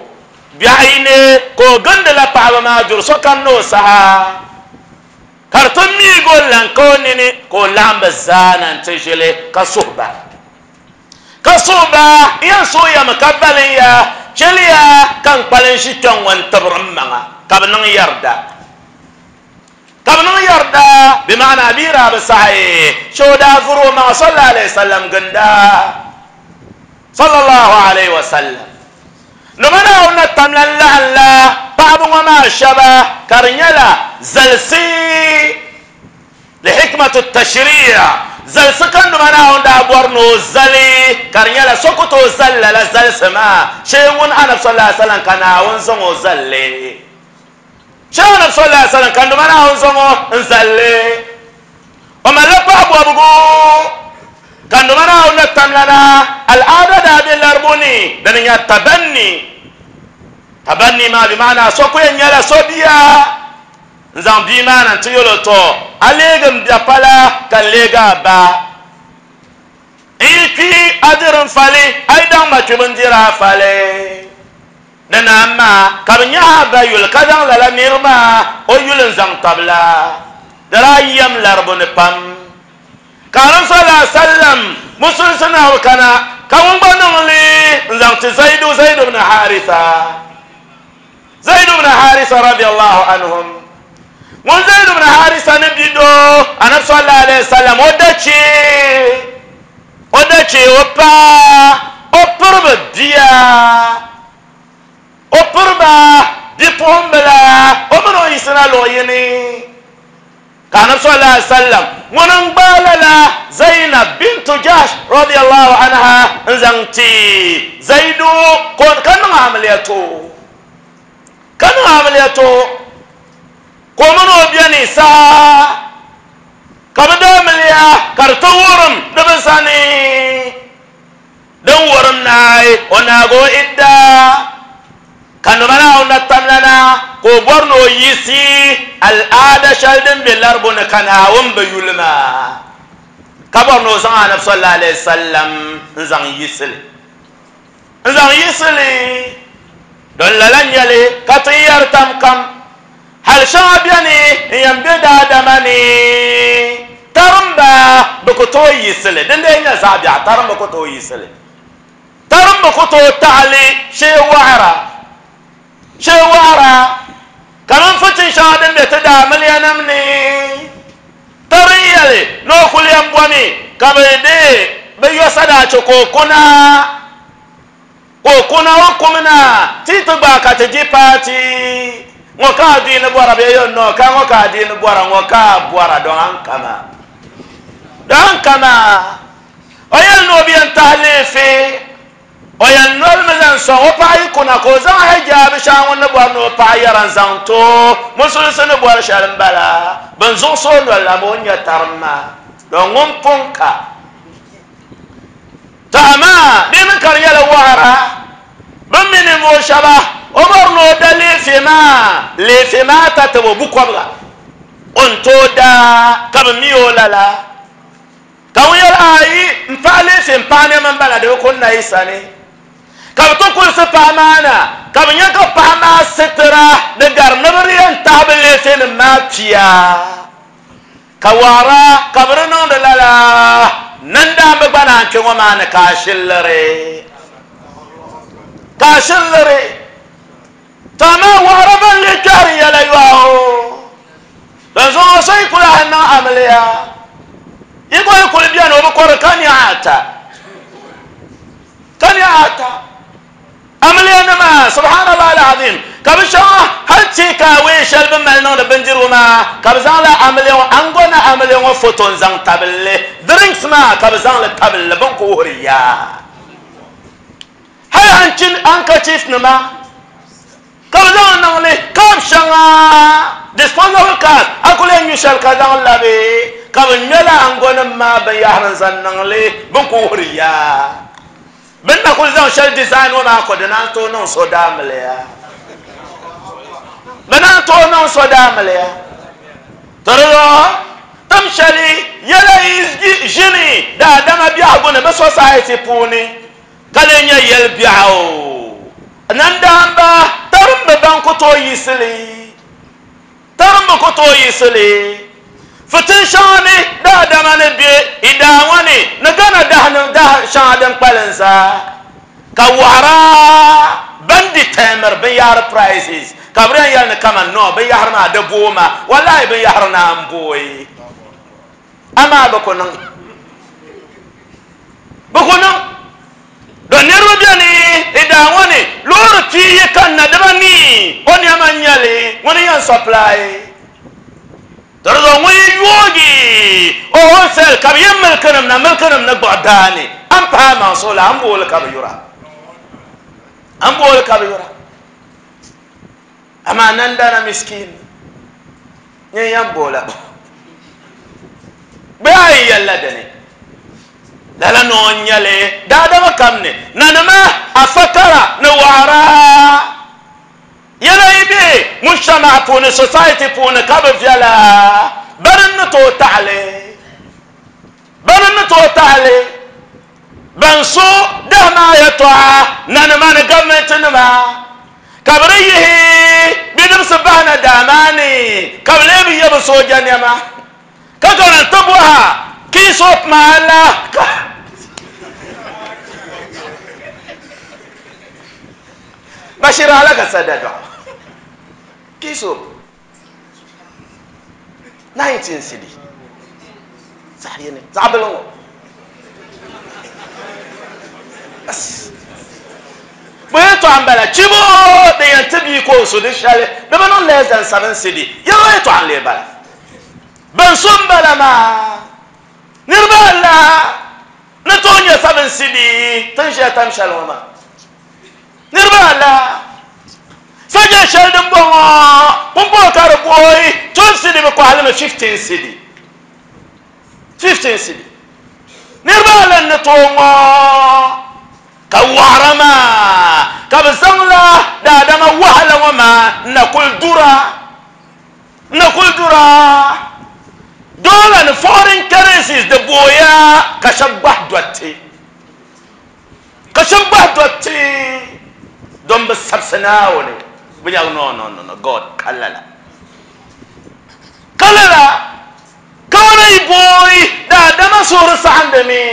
بعيني كو غندلا بعض ما در سكان نوسها كرتمي يقول لن كونني كو لام بزانا تجلي كصحبة كصحبة ينسو يا مكبلين يا جليا كان قلن شتون وانتبرم معا كابنن يردا كابنن يردا بمعنى بيرا بصحيح شو دافرو مع صلى الله عليه وسلم غندا صلى الله عليه وسلم نمنا ونتمنى لعل بعض وما شبه كرنيلا زلسي لحكمة التشريع زلسي كان نمنا وندا زلي كرنيلا سكتو زل لا زلسما شيء أنا صلى الله عليه وسلم كان ونزمو زلي شيء أنا صلى الله عليه وسلم كان نمنا ونزمو زلي وما لبا أبو أبو كان نمنا ونتمنى العادة دابي الأربوني دنيا تبني تبني ما بمعنى سوكو ينيالا سوبيا نزام بيمانا تيولو تو أليغم بيابالا كان ليغا با إيكي أدرن فالي أيضا ما تبنديرا فالي نناما كابنيا بايول كذان لالا نيرما أو يولن زام تابلا درايم الأربوني بام كان صلى الله عليه وسلم مسلم سنة وكنا كون بنولي نزام زيد زيد بن حارثة زيد بن حارثة رضي الله عنهم من زيد بن حارثة نبيدو أنا صلى الله عليه وسلم ودتشي ودتشي وبا أبرب ديا أبرب ديبهم بلا ومنو يسنا لويني كان صلى الله عليه وسلم ونبالا زينب بنت جحش رضي الله عنها انزنتي زيد كان عمليته كان عمليته كومنو بياني سا كبدا مليا كرتورم دبساني دورم ناي وناغو إدا كانوا منا ونتملنا كوبرنو يسي العادة شلدن بالأربون كناهم بيولما كبرنو زعان صلى الله عليه وسلم زعان يسلي زعان يسلي دون لن يلي كتير تم كم هل شعب يعني ينبدا دمني ترمبا بكتو يسلي دين دين زعبيا ترمبا كتو يسلي ترمبا كتو تعلي شيء وعرا شيء وعرا كمان فتن شادن بتدا مليان مني تريالي نو كل يوم بني كبدي بيوسدا شكوكنا كوكنا وكمنا تيتبا كتجي باتي ngoka dini bora be yo no ka ngoka dini bora ngoka bora don an kama don kama oyel no bi an tahlifi oyel no mezan so o pa ikuna ko zan hijab sha won bora no pa yaran zan to musul sun bora sharan bala ban zo so no la mo nya tarma don ngon ponka tama bi min kar yala wara ban min mo shaba Omar no da lefe ma lefe ma ta tabo bukwabra on to da kaba miyo lala kan yal ayi mfa lefe mpa ne man bala da ko na isa ne kaba to kul se pa mana kaba nya ka pa ma sitra da gar na bariyan ta ba lefe ne ma pia ka waɣara ka bi di niŋdi lala nandaamba gba naan kpe ŋɔ maa ni ka a shilliri ka a shilliri to amaa waɣara ban lee kpɛhiri yɛla yɔɣu don zuɣu so yi kuli lahi niŋ amiliya yi ko yi kuli bɛni o bi kɔri ka niɛɣa ata ka niɛɣa ata amiliya nima subhanallah alazim ka bi shɛŋa hali take away shɛli bi mali niŋdi bindirigu maa ka bi zaŋla amiliya ŋɔ ango ni amiliya ŋɔ foto n zaŋ tabilili drinks maa ka bi zaŋli tabilili bin ku wuhiri yaa hali handkerchief nima ka bi zaŋ niŋli cup shɛŋa disposable cup a ku lee nyu shɛli ka zaŋ labi ka bi ŋmɛla ango nim maa binyahari n zaŋ niŋli bin ku wuhiri yaa bin na kuli zaŋ shɛli design ŋɔ maa ko di naan tooi niŋ so daamiliya bi naan tooi niŋ so daamiliya to di zuɣu tim shɛli yɛla yi ʒini daadama biɛhigu ni bi society puuni ka lee nyɛ yɛli biɛɣu nandaamba tarim bi ban ku tooi yiɣisili tarim bi ku tooi yiɣisili fitin shɛŋa ni daadama ni be i daa ŋɔ ni ni Ghana dahi ni dahi shɛŋa din kpalim zaa ka waɣara ban determine binyahari prices ka bi yɛn yɛli ni kaman no binyahari maa di booma wallahi binyahari naan booi amaa bi ku niŋ bi ku niŋ don niriba bɛni i daa ŋɔ ni loori pii yi kanna dibanii o nɛma n nyɛli ŋuni yɛn supply to di zuɣu ŋun yi yoogi o wholesale ka bi yɛn milkinim na milkinim ni gbuɣi daani an paai maŋ so la an booli ka bi yura an booli ka bi yura amaa nandana miskin nyɛ yɛn boola bɛ a yi yɛlila dini lala noo n nyɛli daadama kam ni nanima afakara ni waɣara yɛla yi be mujtama puuni society puuni ka bi viɛla bani ni tooi taɣali bani ni tooi taɣali ban so dahi maa yɛltɔɣa nanima ni gɔvmɛnti nima ka bi di yihi bidibsi bahina daa maa ni ka bi lee bi yɛ bi sooja nɛma ka gana ti bɔha kiisop maa la ka Bashir ala ka sada dɔɣu kiisop nineteen cedi zaɣ yini zaɣ bili ŋɔ bas bɛ yɛltɔɣa n bala chibo din yɛn ti bia ka o su di shɛli di bi niŋ less than seven cedi yɛlɔ yɛltɔɣa n lee bala ban so n bala maa niriba ala ni tooi nyɛ seven cedi tin ʒiya tam shɛli ŋɔ maa niriba ala soja shɛli din bɔŋɔ pumpɔŋɔ ka di booi twelve cedi bi kɔhili mi fifteen cedi fifteen cedi niriba ala ni tooi ŋɔ ka waɣara maa ka bi zaŋla daadama wahala ŋɔ maa n na kuli dura n na kuli dura dollar ni foreign currencies di booya ka shɛba gbahi dɔtti ka shɛba gbahi dɔtti don bi sabisi Naawuni bi nyɛla no no no no God ka lala ka lala ka wana yi booi daadama suhuri saɣindimi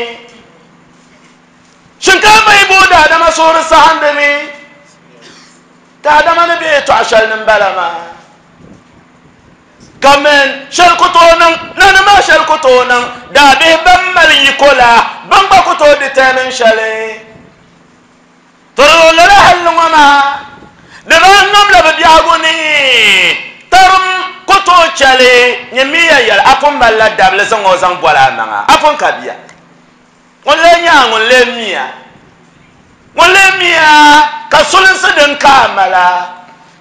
shinkaafa yi booi daadama suhuri saɣindimi daadama ni bɛ yɛltɔɣa shɛli ni bala maa kamen shɛli ku tooi niŋ nanima shɛli ku tooi niŋ daabihi ban mali yiko la ban gba ku tooi determine shɛli to di zuɣu lala halli ŋɔ maa di daa niŋla bi biɛhigu ni tarim ku tooi chɛli nyɛ mi yɛn yɛli a pun malila dabili zaŋ o zaŋ bɔli a maŋa a pun ka bia ŋun lee nyɛ a ŋun lee miya ŋun lee miya ka sulinsi din ka a mala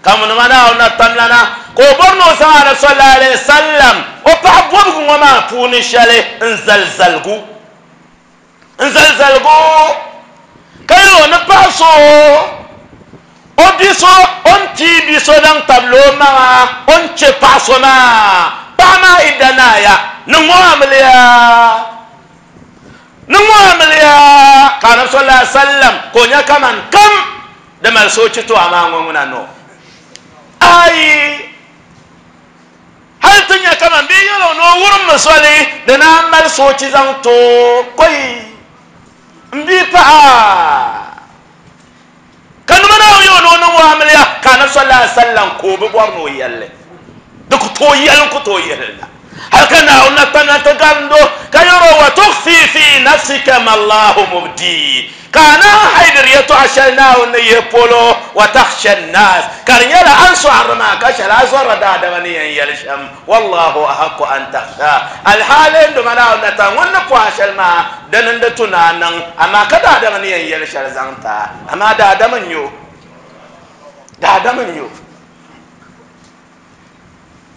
ka ŋunima Naawuni na tamlana ka o bɔri ni o zaŋ Anabi sallallahu alayhi wa sallam o paɣa bɔbigu ŋɔ maa puuni shɛli n zali zaligu n zali zaligu ka yɛli o ni paɣa so o bi so o ni pii bi so zaŋ tabili o maŋa o ni chɛ paɣa so maa paɣa maa idda naaya ni ŋɔ amiliya ni ŋɔ amiliya ka Anabi sallallahu alayhi wa sallam ka o nya kaman kam di mali soochi to amaa ŋɔ ŋuna no ayi bi soli di naan mali soochi zaŋ to koyi n bii paɣa ka nima naawuni yɛli ni o niŋ o amiliya ka anabi sallallahu alaihi wasallam ka o bi bɔri ni o yɛlli di ku tooi yɛli n ku tooi yɛli la hal ka naawuni na kpana ti garindo ka yɛro wa tukhfi fi nafsika ma Allahu mubdi ka a naan haidiri yɛltɔɣa shɛli naawuni ni yihi polo wa takhsha nnas ka di nyɛla a ni sɔɣiri maa ka shɛli a zɔrila daadama ni yɛn yɛli shɛm wallahu ahaqqu an takhsha alhaali doma naawuni na ta ŋun ni pɔha shɛli maa dini n di tu ni a niŋ amaa ka daadama ni yɛn yɛli shɛli zaŋ ta amaa daadama n nyɛ o daadama n nyɛ o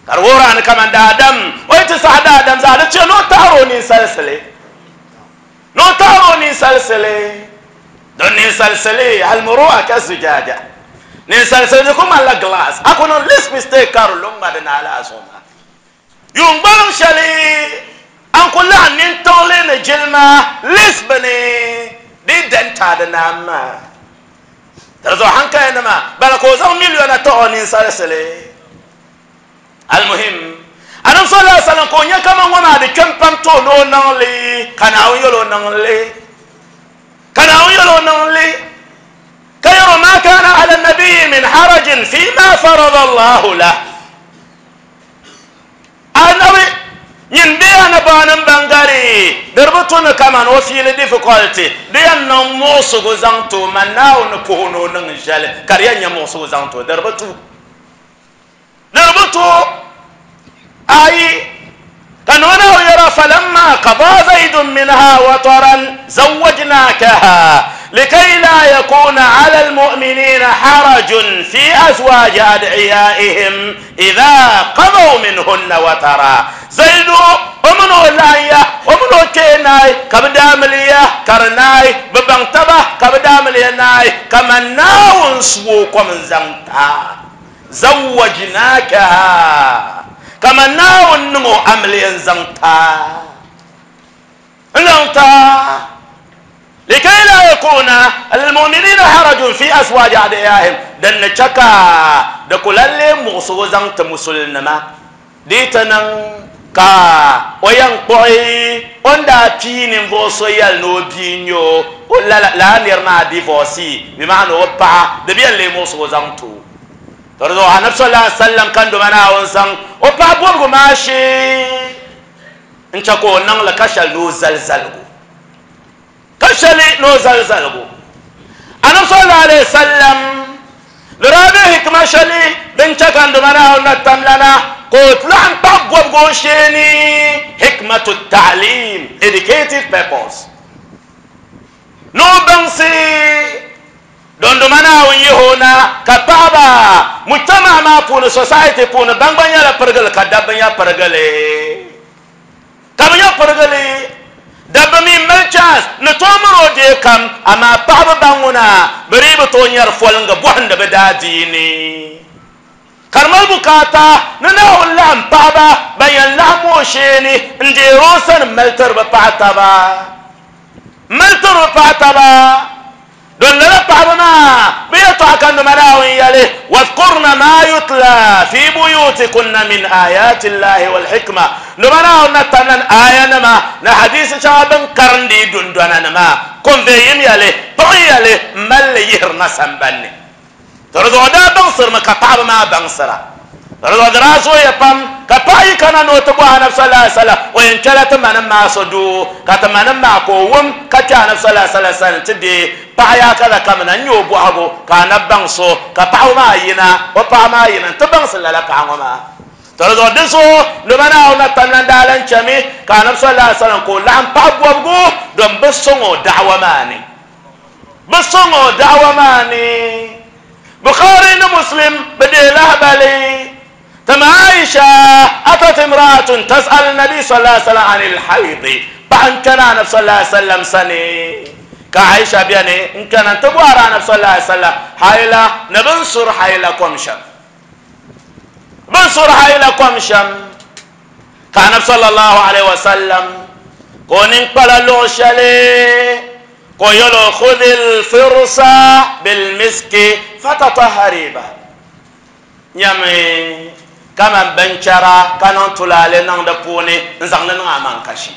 ka di wuhiri a ni kaman daadam o yi ti saɣi daadam zaa di chɛ ni o taɣiri o ninsalisili ni o taɣiri o ninsalisili don ninsalisili almuru'a ka zujaja ninsalisili di ku ŋmanila glass a ku niŋ least mistake ka di lu ŋma di naala a zuɣu maa yuun gbaliŋ shɛli an ku laɣim nintiɣili ni jilima least bini di dan taai di naam maa di zuɣu hankali nima bala ka o zaŋ miliyɔna taɣi o ninsalisili المهم أنا صلى الله عليه وسلم كون يكما وما دي كم بام تو نو نانلي كان يلو نانلي كان يلو نانلي كيرو ما كان على النبي من حرج فيما فرض الله له النبي yin be ana banan bangare darbutun kaman o feel difficulty de yan nan musu go zanto mannaw no ko no nan jale kar yan ya musu zanto darbutu نربطه أي كانونه يرى فلما قضى زيد منها وطرا زوجناكها لكي لا يكون على المؤمنين حرج في أزواج أدعيائهم إذا قضوا منهن وطرا زيد ومنو لايا ومنو كيناي كبدامليا كرناي ببنتبه كبدامليا ناي كما ناون سوكم زمتا زوجناكها كما ناون نمو أملين زنتا زنتا لكي لا يكون المؤمنين حرج في أزواج أدعيائهم دن تشكا دكولالي مغسو زنت مسلمة ديتنا ka o yan kpuɣi o ni daa pii ninvuɣu so yɛli ni o bia n nyɛ o o lala niri maa divorce bi maana o paɣa di bi yɛn lee muɣusigu zaŋ ti o to di zuɣu anabi sallallahu alaihi wasallam kan doma Naawuni zaŋ o paɣa bɔbigu maa shee n chɛ ka o niŋli ka shɛli ni o zali zaligu ka shɛli ni o zali zaligu anabi sallallahu alaihi wasallam di daa be hikima shɛli din chɛ ka n doma Naawuni na tamlana ka o laɣim paɣa bɔbigu o shee ni hikmatu ta'lim educative purpose ni o baŋsi dondoma Naawuni yihi o na ka paɣaba mujtama maa puuni society puuni ban gba nyɛla pirigili ka dabba nyɛ pirigili ka bi nyɛ pirigili dabba mi mali chance ni tooi miri o dee kam amaa paɣaba ban ŋuna bi dii bi tooi nyɛri folinga bɔhindi bi daadiini ka di mali bukaata ni Naawuni laɣim paɣaba ban yɛn laɣim o sheeni n deeri o sani mali tiri bi paɣa taba mali tiri bi paɣa taba don lala paɣaba maa bi yɛltɔɣa ka nima Naawuni yɛli wadhkurna ma yutla fi buyutikunna min ayati llahi walhikma nima Naawuni na tamlan aya nima na hadisi shɛŋa bin karindi dundona nima konveyim yɛli paɣa yɛli n malli yihirina sambanni to di zuɣu daa baŋsirimi ka paɣaba maa baŋsira di zuɣu di daa zooya pam ka paɣa yi kana ni o ti bɔhi anabi sallallahu alaihi wasallam o yɛn kpɛla ti manim maa so doo ka ti manim maa ka o wum ka kpɛ anabi sallallahu alaihi wasallam ti deei paɣa yaa kaza kamina n nyɛ o bɔhigu ka anabi baŋ so ka paɣaba maa yina o paɣa maa yina n ti baŋsi lala paɣa ŋɔ maa to di zuɣu di zuɣu nima Naawuni na tamlan daa lan chɛmi ka anabi sallallahu alaihi wasallam ka o laɣim paɣa bɔbigu don bi sɔŋ o da'awa maa ni bi sɔŋ o da'awa maa ni Bukhari ni Muslim bidee lahbali تم عائشة أتت امرأة تسأل النبي صلى الله عليه وسلم عن الحيض فإن كان النبي صلى الله عليه وسلم سني كعائشة بياني إن كان تبوار النبي صلى الله عليه وسلم حيلة نبنصر حيلة كمشم بنصر حيلة كمشم كان صلى الله عليه وسلم كون انقل لغشلي كويلو خذ الفرصة بالمسك فتطهري بها يمي Kaman binchɛra ka niŋ tulaale niŋ di puuni n zaŋli niŋ a maŋ kashi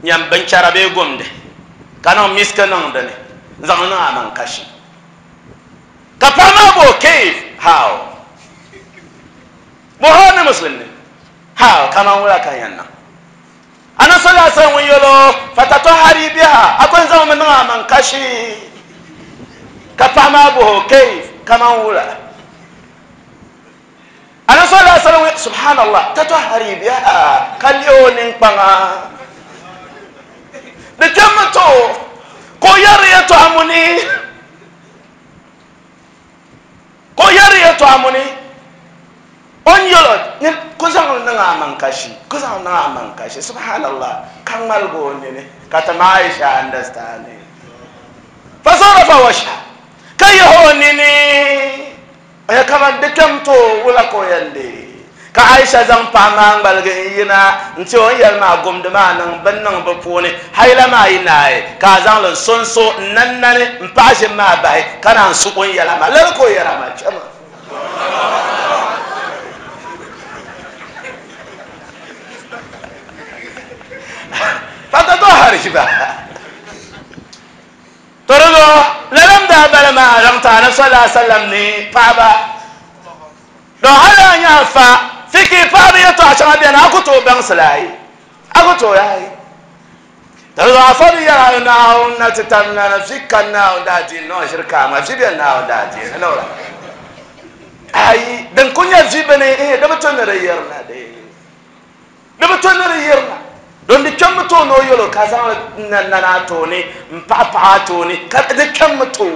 nyam binchɛra bee gomdi ka niŋ miski niŋ dini n zaŋli niŋ a maŋ kashi ka paɣa maa bo cave how buhari ni muslim ni how kaman wula ka yɛn niŋ ana sallallahu alaihi wasallam yolo fatatahari biha akon zaŋ mi niŋ a maŋ kashi ka paɣa maa bo cave kaman wula ana sallallahu alaihi wasallam subhanallah tatahari biha kalio nin kpaŋa di kpɛmmi to ko yɛri yɛltɔɣa muni ko yɛri yɛltɔɣa muni o ni yɛlo ni ko zaŋ niŋ a maŋ kashi ko zaŋ niŋ a maŋ kashi subhanallah ka ŋmaligi o nini ka ti ma Aisha understanding fasarafa wajha ka yahi o nini ya kaman di kpɛm to wula ka o yɛn dee ka Aisha zaŋ paɣa maa ŋmaligi n yina n ti o n yɛli maa gomdi maa niŋ bin niŋ bi puuni hayila maa yi naai ka a zaŋli n sonso n nani nani n paɣa ʒim maa bahi ka naan su o n yɛla maa lala ka o yɛla maa chɛma fatatahari ba to di zuɣu lalam daa bala maa zaŋ ti anabi sallallahu alaihi wasallam ni paɣaba don hali a nya fa fiki paɣaba yɛltɔɣa shɛŋa biɛni a ku tooi baŋsi la ayi a ku tooi ayi di zuɣu afa bi yɛra Naawuni na ti tam nana fi ka Naawuni daa diini no ʒiri kaama fi bɛ Naawuni daa diini no la ayi din ku nyɛ vi bini eh di bi to ni di yirina de di bi to ni di yirina don di kpɛmmi tooi ni o yɛlo ka zaŋ nana a tooni n paɣa paɣa a tooni ka di kpɛmmi tooi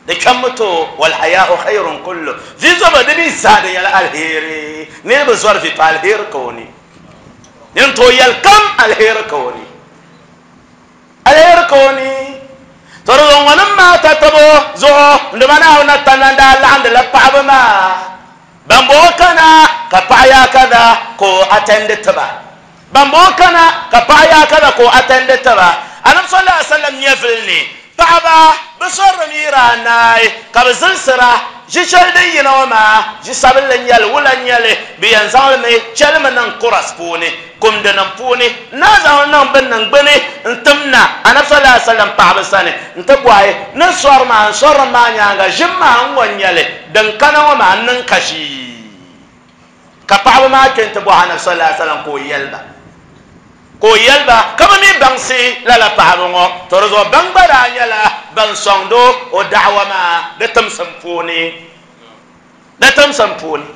di kpɛmmi to wal haya'u khayrun kullu vi zoba di mi zaa di nyɛla alheri niriba zɔri vi pa alheri ka o ni nin tooi yɛli kam alheri ka o ni alheri ka o ni to di zuɣu ŋɔnim maa tatabo zuɣu n dima Naawuni na tamla n daa laɣimdi la paɣaba maa ban bɔŋɔ kana ka paɣa yaa kada ka o attend tiba ban bɔŋɔ kana ka paɣa yaa kada ka o attend tiba anabi sallallahu alaihi wasallam nyɛvili ni paɣaba bi sɔrimi yira anahi ka bi zilsira ʒi shɛli din yina ŋɔ maa ʒi sabinli n nyɛli wula n nyɛli bi yɛn zaŋlimi chɛlimi niŋ kuras puuni kumdi nim puuni n naa zaŋli niŋ bin niŋ gbuni n tim na anabi sallallahu alaihi wasallam paɣaba sani n ti bɔhi ni sɔri maa n sɔri maa nyaanga ʒim maa n ŋɔ n nyɛli din kana ŋɔ maa n niŋ kashi ka paɣaba maa kpɛ n ti bɔhi anabi sallallahu alaihi wasallam ka o yɛli ba ka o yɛli ba ka bi mi baŋsi lala paɣaba ŋɔ to di zuɣu ban gba daa nyɛla ban sɔŋdi o da'awa maa di timsim puuni di timsim puuni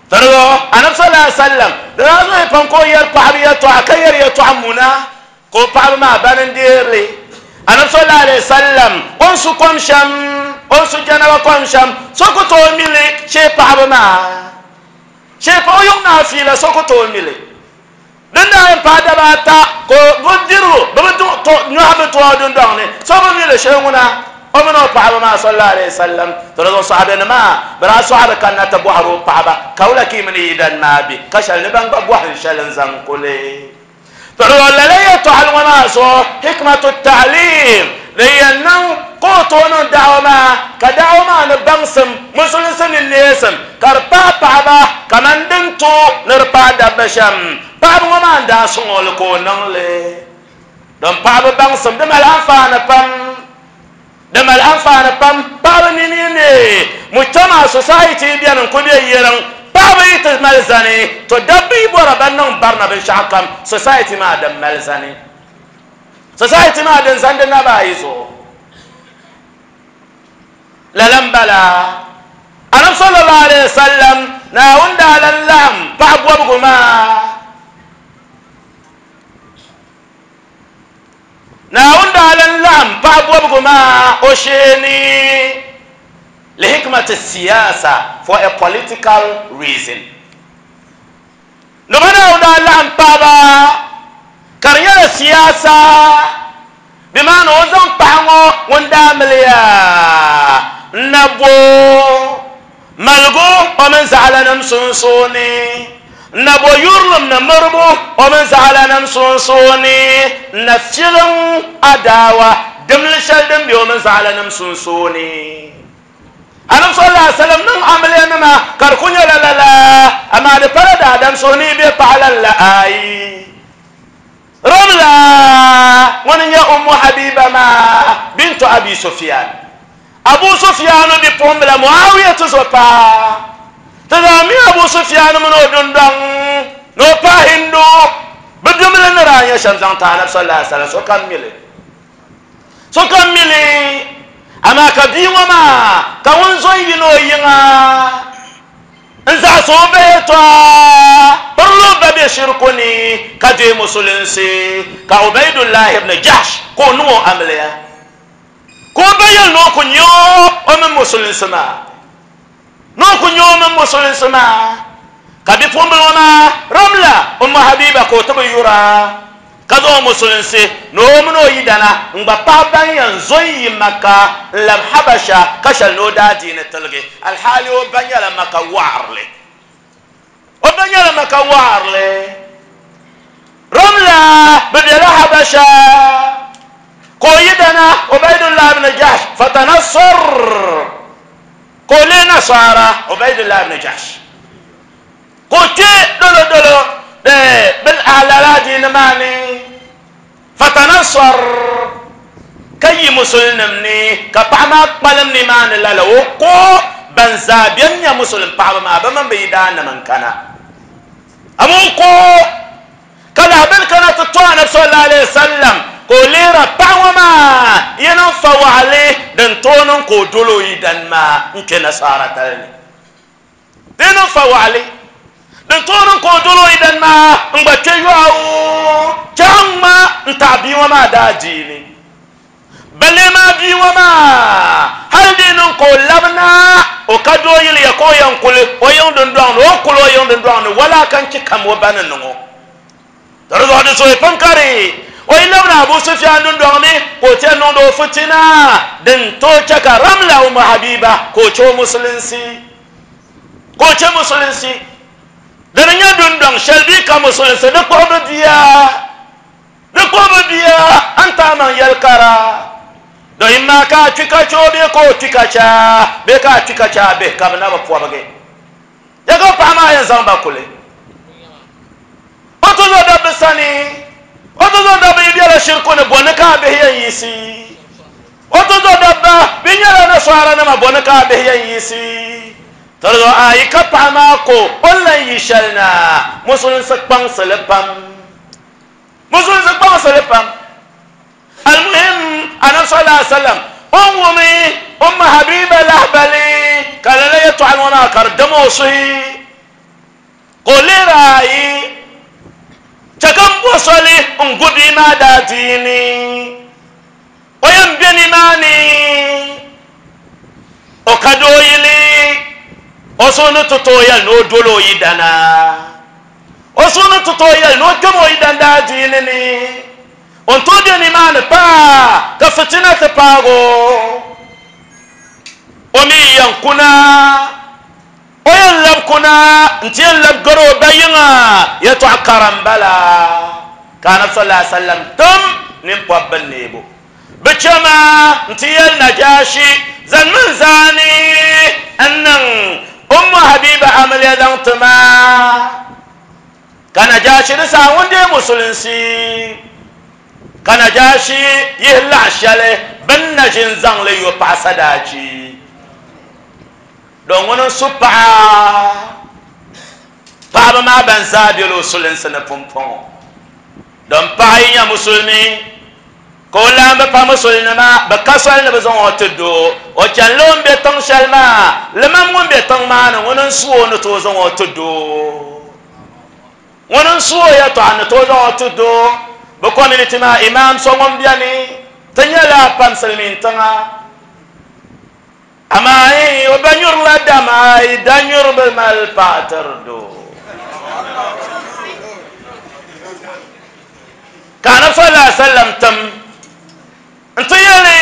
to di zuɣu anabi sallallahu alaihi wasallam di daa zooi pam ka o yɛri paɣaba yɛltɔɣa ka yɛri yɛltɔɣa muna ka o paɣaba maa bani n deerili anabi sallallahu alaihi wasallam o ni su kom shɛm o ni su janaba kom shɛm so ku tooi mili shee paɣaba maa shee paɣa o yuŋ naa fiila so ku tooi mili din daa yɛn paai daba ata ka bindirigu bi bi nyɔhi bi tooi dundɔŋ ni so bi mili shee ŋuna o mini o paɣaba maa sallallahu alaihi wasallam to di zuɣu sahabi maa bi daa sɔɣiri kanna ti bɔhiri o paɣaba ka wula ka yi mini yidan maa be ka shɛli ni ban gba bɔhim shɛli n zaŋ kuli to di zuɣu lala yɛltɔɣali ŋɔ maa zuɣu hikmatu ta'lim din yɛn niŋ ka o tooi niŋ da'awa maa ka da'awa maa ni baŋsim musulinsi ni neesim ka di paai paɣaba kaman din to ni di paai dabba shɛm paɣaba ŋɔ maa n daa sɔŋ o li ka o niŋ li don paɣaba baŋsim di mali anfaani pam di mali anfaani pam paɣaba nini ne mujtama society biɛni n ku bɛ yɛriŋ paɣaba yi ti mali zani to dabba yi bɔra ban niŋ barina binshaɣu kam society maa din mali zani society maa din zandi naba ayi zuɣu lala n bala anabi sallallahu alaihi wasallam Naawuni daa lan laɣim paɣa bɔbigu maa Naawuni daa lan laɣim paɣa bɔbigu maa o sheeni lihikmati siyasa for a political reason nima Naawuni daa laɣim paɣaba ka di nyɛla siyasa bi maana o zaŋ paɣa ŋɔ ŋun daa miliya n na bo maligu o mini zaɣalanim sunsuuni n na bo yurilim ni miribu o mini zaɣalanim sunsuuni n na filiŋ adawa dimli shɛli din be o mini zaɣalanim sunsuuni Annabi sallallahu alaihi wasallam niŋ amiliya nima ka di ku nyɛla lala amaa di pala daadam so ni bɛ paɣa la ayi Ramla ŋuni nyɛ Ummu Habiba maa bintu Abi Sufyan Abu Sufyan bipuɣimbila Muawiya tuzo paa ti zaŋ mi Abu Sufyan mini o dundɔŋ ni o paɣa Hindu bi dimli ni daa nyɛ shɛm zaŋ ti Anabi sallallahu alaihi wasallam sokam mili sokam mili amaa ka bia ŋɔ maa ka ŋun zo n yini o yiŋa n zaɣasi o ba yɛltɔɣa pirili o ba bɛ shiriku ni ka deei musulinsi ka Ubaidullah ibn Jahsh ka o niŋ o amiliya ka o ba yɛli ni o ku nyɛ o mini musulinsi maa ni o ku nyɛ o mini musulinsi maa ka bipuɣimbila ŋɔ maa Ramla Ummu Habiba ka o ti bi yura ka zaŋ musulinsi ni o mini o yidana n gba paɣa ban yɛn zo n yi Maka n labi Habasha ka shɛli ni o daa diini tiligi alhaali o ba nyɛla Maka waɣarili o ba nyɛla Maka waɣarili Ramla bi bɛla Habasha ka o yidana Ubaidullah ibn Jahsh fatanassar ka o lee nasara Ubaidullah ibn Jahsh ka o kpe dolo dolo bil alala diini maa ni fatanassar ka yi musulinim ni ka paɣa maa kpalim ni maa ni lala o ko ban zaa bɛn nyɛ musulim paɣaba maa bi mini bi yidaannim n kana ama o ko ka lahabali kana ti to Anabi sallallahu alaihi wasallam ka o leera paɣa ŋɔ maa yini n fa waɣali din tooi niŋ ka o doli o yidan maa n kpɛ nasaara tali ni di niŋ fa waɣali din tooi niŋ ka o doli o yidan maa n gba kpɛ yɔɣu chaŋ ma n taɣi bia ŋɔ maa daa diini balle maa bia ŋɔ maa hali di niŋ ka o labina o ka doo yiliya ka o yɛn kuli o yiŋ dundɔŋ ni o kuli o yiŋ dundɔŋ ni wala kan chi kam o ba ni niŋ o di zuɣu di soya pam kari o yi labina Abu Sufyan dundɔŋ ni ka o chɛ niŋdi o fitina din tooi chɛ ka Ramla Ummu Habiba ka o chɛ o musulinsi ka o chɛ musulinsi dini nyɛ dundɔŋ shɛli bi ka musulinsi di kpuɣi bi bia di kpuɣi bi bia an taai maŋ yɛli kara don imma ka a kpi ka chɛ o bee ka o kpi ka cha bee ka a kpi ka cha a bihi ka bi na bi pɔbigi ya ka paɣa maa yɛn zaŋ ba kuli o ti zo dabba sani o ti zo dabba yi bɛla shiriku ni bɔ ni ka a bihi yɛn yiɣisi o ti zo dabba bi nyɛla nasara nima bɔ ni ka a bihi yɛn yiɣisi tɔrɔ ayi ka paɣa maa ko o ni lan yi shɛli na musulinsi kpaŋsili pam musulinsi kpaŋsili pam almuhim Anabi sallallahu alaihi wasallam o wumi Ummu Habiba lahibali ka lala yɛltɔɣa ŋɔ maa ka di dama o suhi ka o lihiri ayi chɛ ka n bo soli n gu bia maa daa diini o yɛn bɛ nimaani o ka doo yili o so ni ti tooi yɛli ni o doli o yidana o so ni ti tooi yɛli ni o kpɛm o yidan daa diini ni o ni tooi bɛ nimaani paa ka fitina ti paagi o o mi yɛn kuna o yɛn labi kuna n ti yɛn labi gari o ba yiŋa yɛltɔɣa kara n bala ka Anabi sallallahu alaihi wasallam tim ninpɔbi bin neebu bi chɛma n ti yɛli Najashi zanmi n zaani n niŋ Ummu Habiba amiliya zaŋ ti ma ka Najashi di saha ŋun deei musulinsi ka Najashi yihi laɣa shɛli bin na ʒin zaŋli yo paɣa sadaachi don ŋuni n su paɣa paɣaba maa ban zaa bɛla o sulinsi ni pumpɔŋɔ don paɣa yi nyɛ musulimi ka o laamba pa musulinima bi ka soli ni bi zaŋ o ti doo o chanila o ni bɛ tiŋ shɛli maa limam ŋun bɛ tiŋ maa ni ŋuni n su o ni tooi zaŋ o ti doo ŋuni n su o yɛltɔɣa ni tooi zaŋ o ti doo bi community maa imam so ŋun biɛni ti nyɛla pam silimiin tiŋa amaa o ba nyurila dama yi da nyuri bi mali paɣa tiri doo ka Anabi sallallahu alaihi wasallam tim n ti yɛli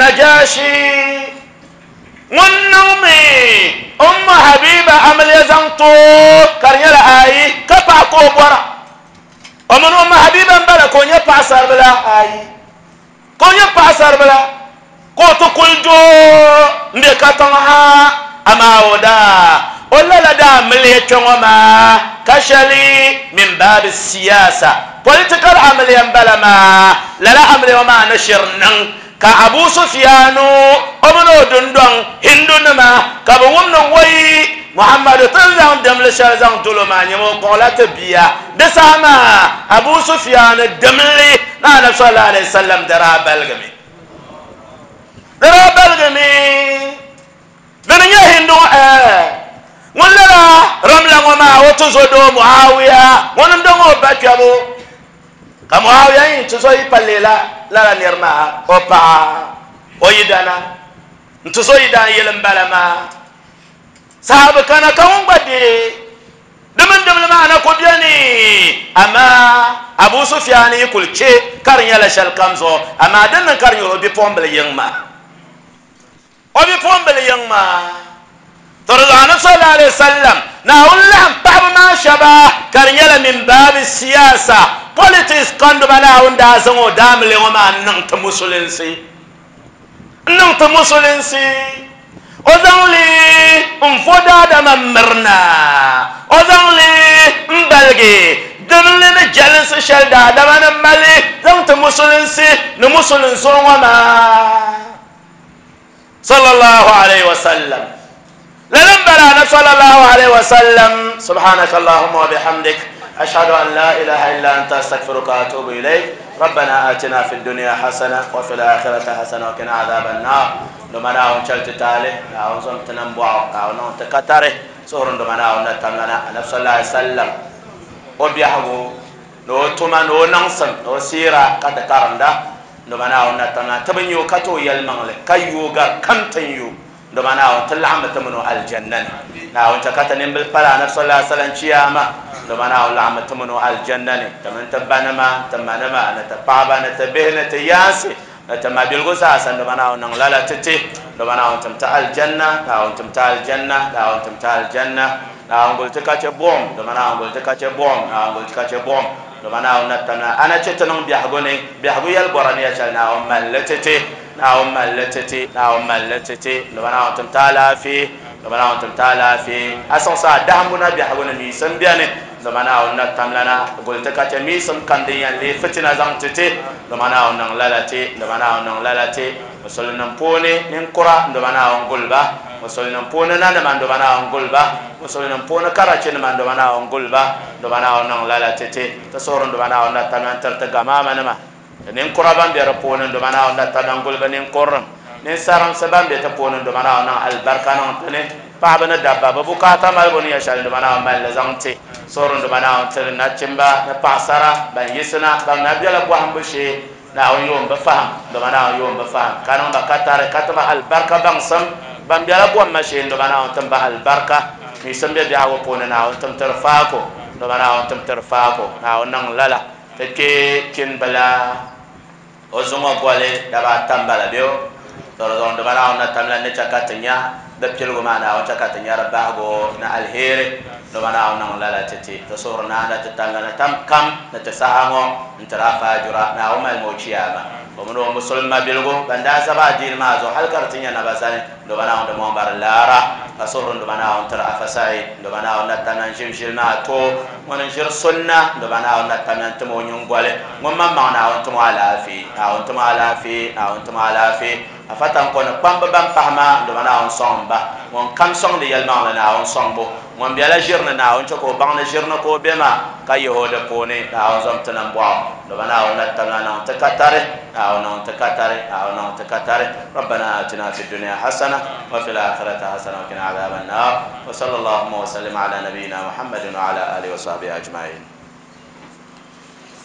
Najashi ŋun niŋmi Ummu Habiba amiliya zaŋ to ka di nyɛla ayi ka paɣa ka o bɔra o mini Ummu Habiba n bala ka o nyɛ paɣasaribila ayi ka o nyɛ paɣasaribila Ka o ti kuli doo n be katiŋ ha amaa o daa o lala daa miliya kpɛ ŋɔ maa ka shɛli min baabi siyasa political amiliya n bala maa lala amiliya maa ni shiri niŋ ka Abu Sufyanu o mini o dundɔŋ Hindu nima ka bi wum ni wai Muhammadu ti zaŋ dimli shɛli zaŋ dolo maa nyɛma o kpuɣila ti bia di saha maa Abu Sufyanu dimli na Anabi sallallahu alayhi wa sallam di daa baligimi di daa baligimi dini nyɛ Hindu ŋɔ ŋun lala Ramla ŋɔ maa o tuzo doo Muawiya ŋun n dɔŋ o ba kpɛbu ka Muawiya yi tuzo yi pa leela lala niri maa o paɣa o yidana n tuzo yidan yili n bala maa sahabi kana ka ŋun gba dee di mini dimli maa na ku beni amaa Abu Sufyan yi kuli che ka di nyɛla shɛli kam zuɣu amaa din niŋ ka di nyɛ o bipuɣimbili yiŋ maa o bipuɣimbili yiŋ maa Anabi sallallahu alayhi wa sallam Naawuni laɣim paɣaba maa shɛba ka di nyɛla min baabi siyasa politics kanduba Naawuni daa zaŋ o daamili ŋɔ maa niŋ ti musulinsi n niŋ ti musulinsi o zaŋ li n fo daadama mirina o zaŋ li n baligi dimli ni jalinsi shɛli daadama ni mali zaŋ ti musulinsi ni musulinsi ŋɔ maa sallallahu alayhi wa sallam لنبلا النبي صلى الله عليه وسلم سبحانك اللهم وبحمدك أشهد أن لا إله إلا أنت أستغفرك وأتوب إليك ربنا آتنا في الدنيا حسنة وفي الآخرة حسنة وقنا عذاب النار لمنا ونشلت تالي نعوزم تنبع نعوزم تكتره سور لمنا ونتمنى النبي صلى الله عليه وسلم وبيحبو نو تما نو ننسم نو سيرة قد كرندا لمنا ونتمنى تبنيو كتو يلمغلي كيوغا كم تنيو لما ناو تلعم تمنو الجنة ناو انت كاتن بالفلا نفس الله صلى الله عليه وسلم لما ناو لعم تمنو الجنة تمن تبانما تمنما نتبابا نتبه نتياسي نتما بالغساس لما ناو نغلالا تتي لما ناو تمتع الجنة ناو تمتع الجنة ناو تمتع الجنة ناو قلت كاتبوم لما ناو قلت كاتبوم ناو قلت كاتبوم لما ناو نتنا انا تتنون بيحغوني بيحغو يلبراني يشال ناو ملتتي ناو ملتتي ناو ملتتي لما ناو تمتالا في لما ناو تمتالا في أصلا سا دهمنا بيحغونا ميسن بياني لما ناو نتملنا قلت كاتميسن كنديان لي فتنا زانتتي لما ناو نغلالتي لما ناو نغلالتي مسلنا بوني ننقرا لما ناو نقلبا مسلنا بوني نانا لما ناو نقلبا مسلنا بوني كراتين لما ناو نقلبا لما ناو نغلالتي تصور لما ناو نتملنا ترتقى نما nin kura ban be puuni nduma na na tanangul ba nin kurrum nin saram saban be ta puuni nduma na na albarka na tani paɣaba ni dabba bi bukaata malibu ni ya shɛli nduma na mali zaŋ ti sori nduma na tiri nachimba ni paɣasara ban yiɣisina ban na bela bɔhimbu shee Naawuni yoon bi faham nduma na yoon bi faham ka niŋ ba ka tari ka ti ba albarka baŋsim ban bela bomma shee nduma na tim ba albarka miisim be biɛhigu puuni Naawuni tim tiri faako nduma na tim tiri faako Naawuni niŋ lala ti kpee kinbila o zuŋɔ goli daba ata n bala beo to di zuɣu nduma Naawuni na tamla ni chɛ ka ti nya di piligu maa Naawuni chɛ ka ti nya di bahigu ni alheri nduma Naawuni niŋ lala ti ti ti suhuri naa na ti tamla ni tam kam ni ti saha ŋɔ n tiri a faajura Naawuni malimi o chiyaama o mini o musulima biligu ban daa zaba adiini maa zuɣu hali ka di ti nya naba zani nduma Naawuni di mɔŋ bari laara ka suhuri nduma Naawuni tiri afa sayi nduma Naawuni na tamla n ʒiri ʒili maa to ŋun n ʒiri sunna nduma Naawuni na tamla n tim o nyingoli ŋun maŋmaŋ Naawuni tim o alaafee Naawuni tim o alaafee Naawuni tim o alaafee afa tanko ni kpamba ban pahi maa nduma Naawuni sɔŋ ba ŋun kam sɔŋdi yɛlimaŋli Naawuni sɔŋ bo ŋun bela ʒiri ni Naawuni chɛ ka o baŋ ni ʒiri ni ka o be maa ka yihi o di puuni Naawuni zom ti nambɔɣu nduma Naawuni na tamla niŋ ti ka tari Naawuni niŋ ti ka tari Naawuni niŋ ti ka tari ربنا آتنا في الدنيا حسنة وفي الآخرة حسنة وقنا عذاب النار وصلى اللهم وسلم على نبينا محمد وعلى آله وصحبه أجمعين.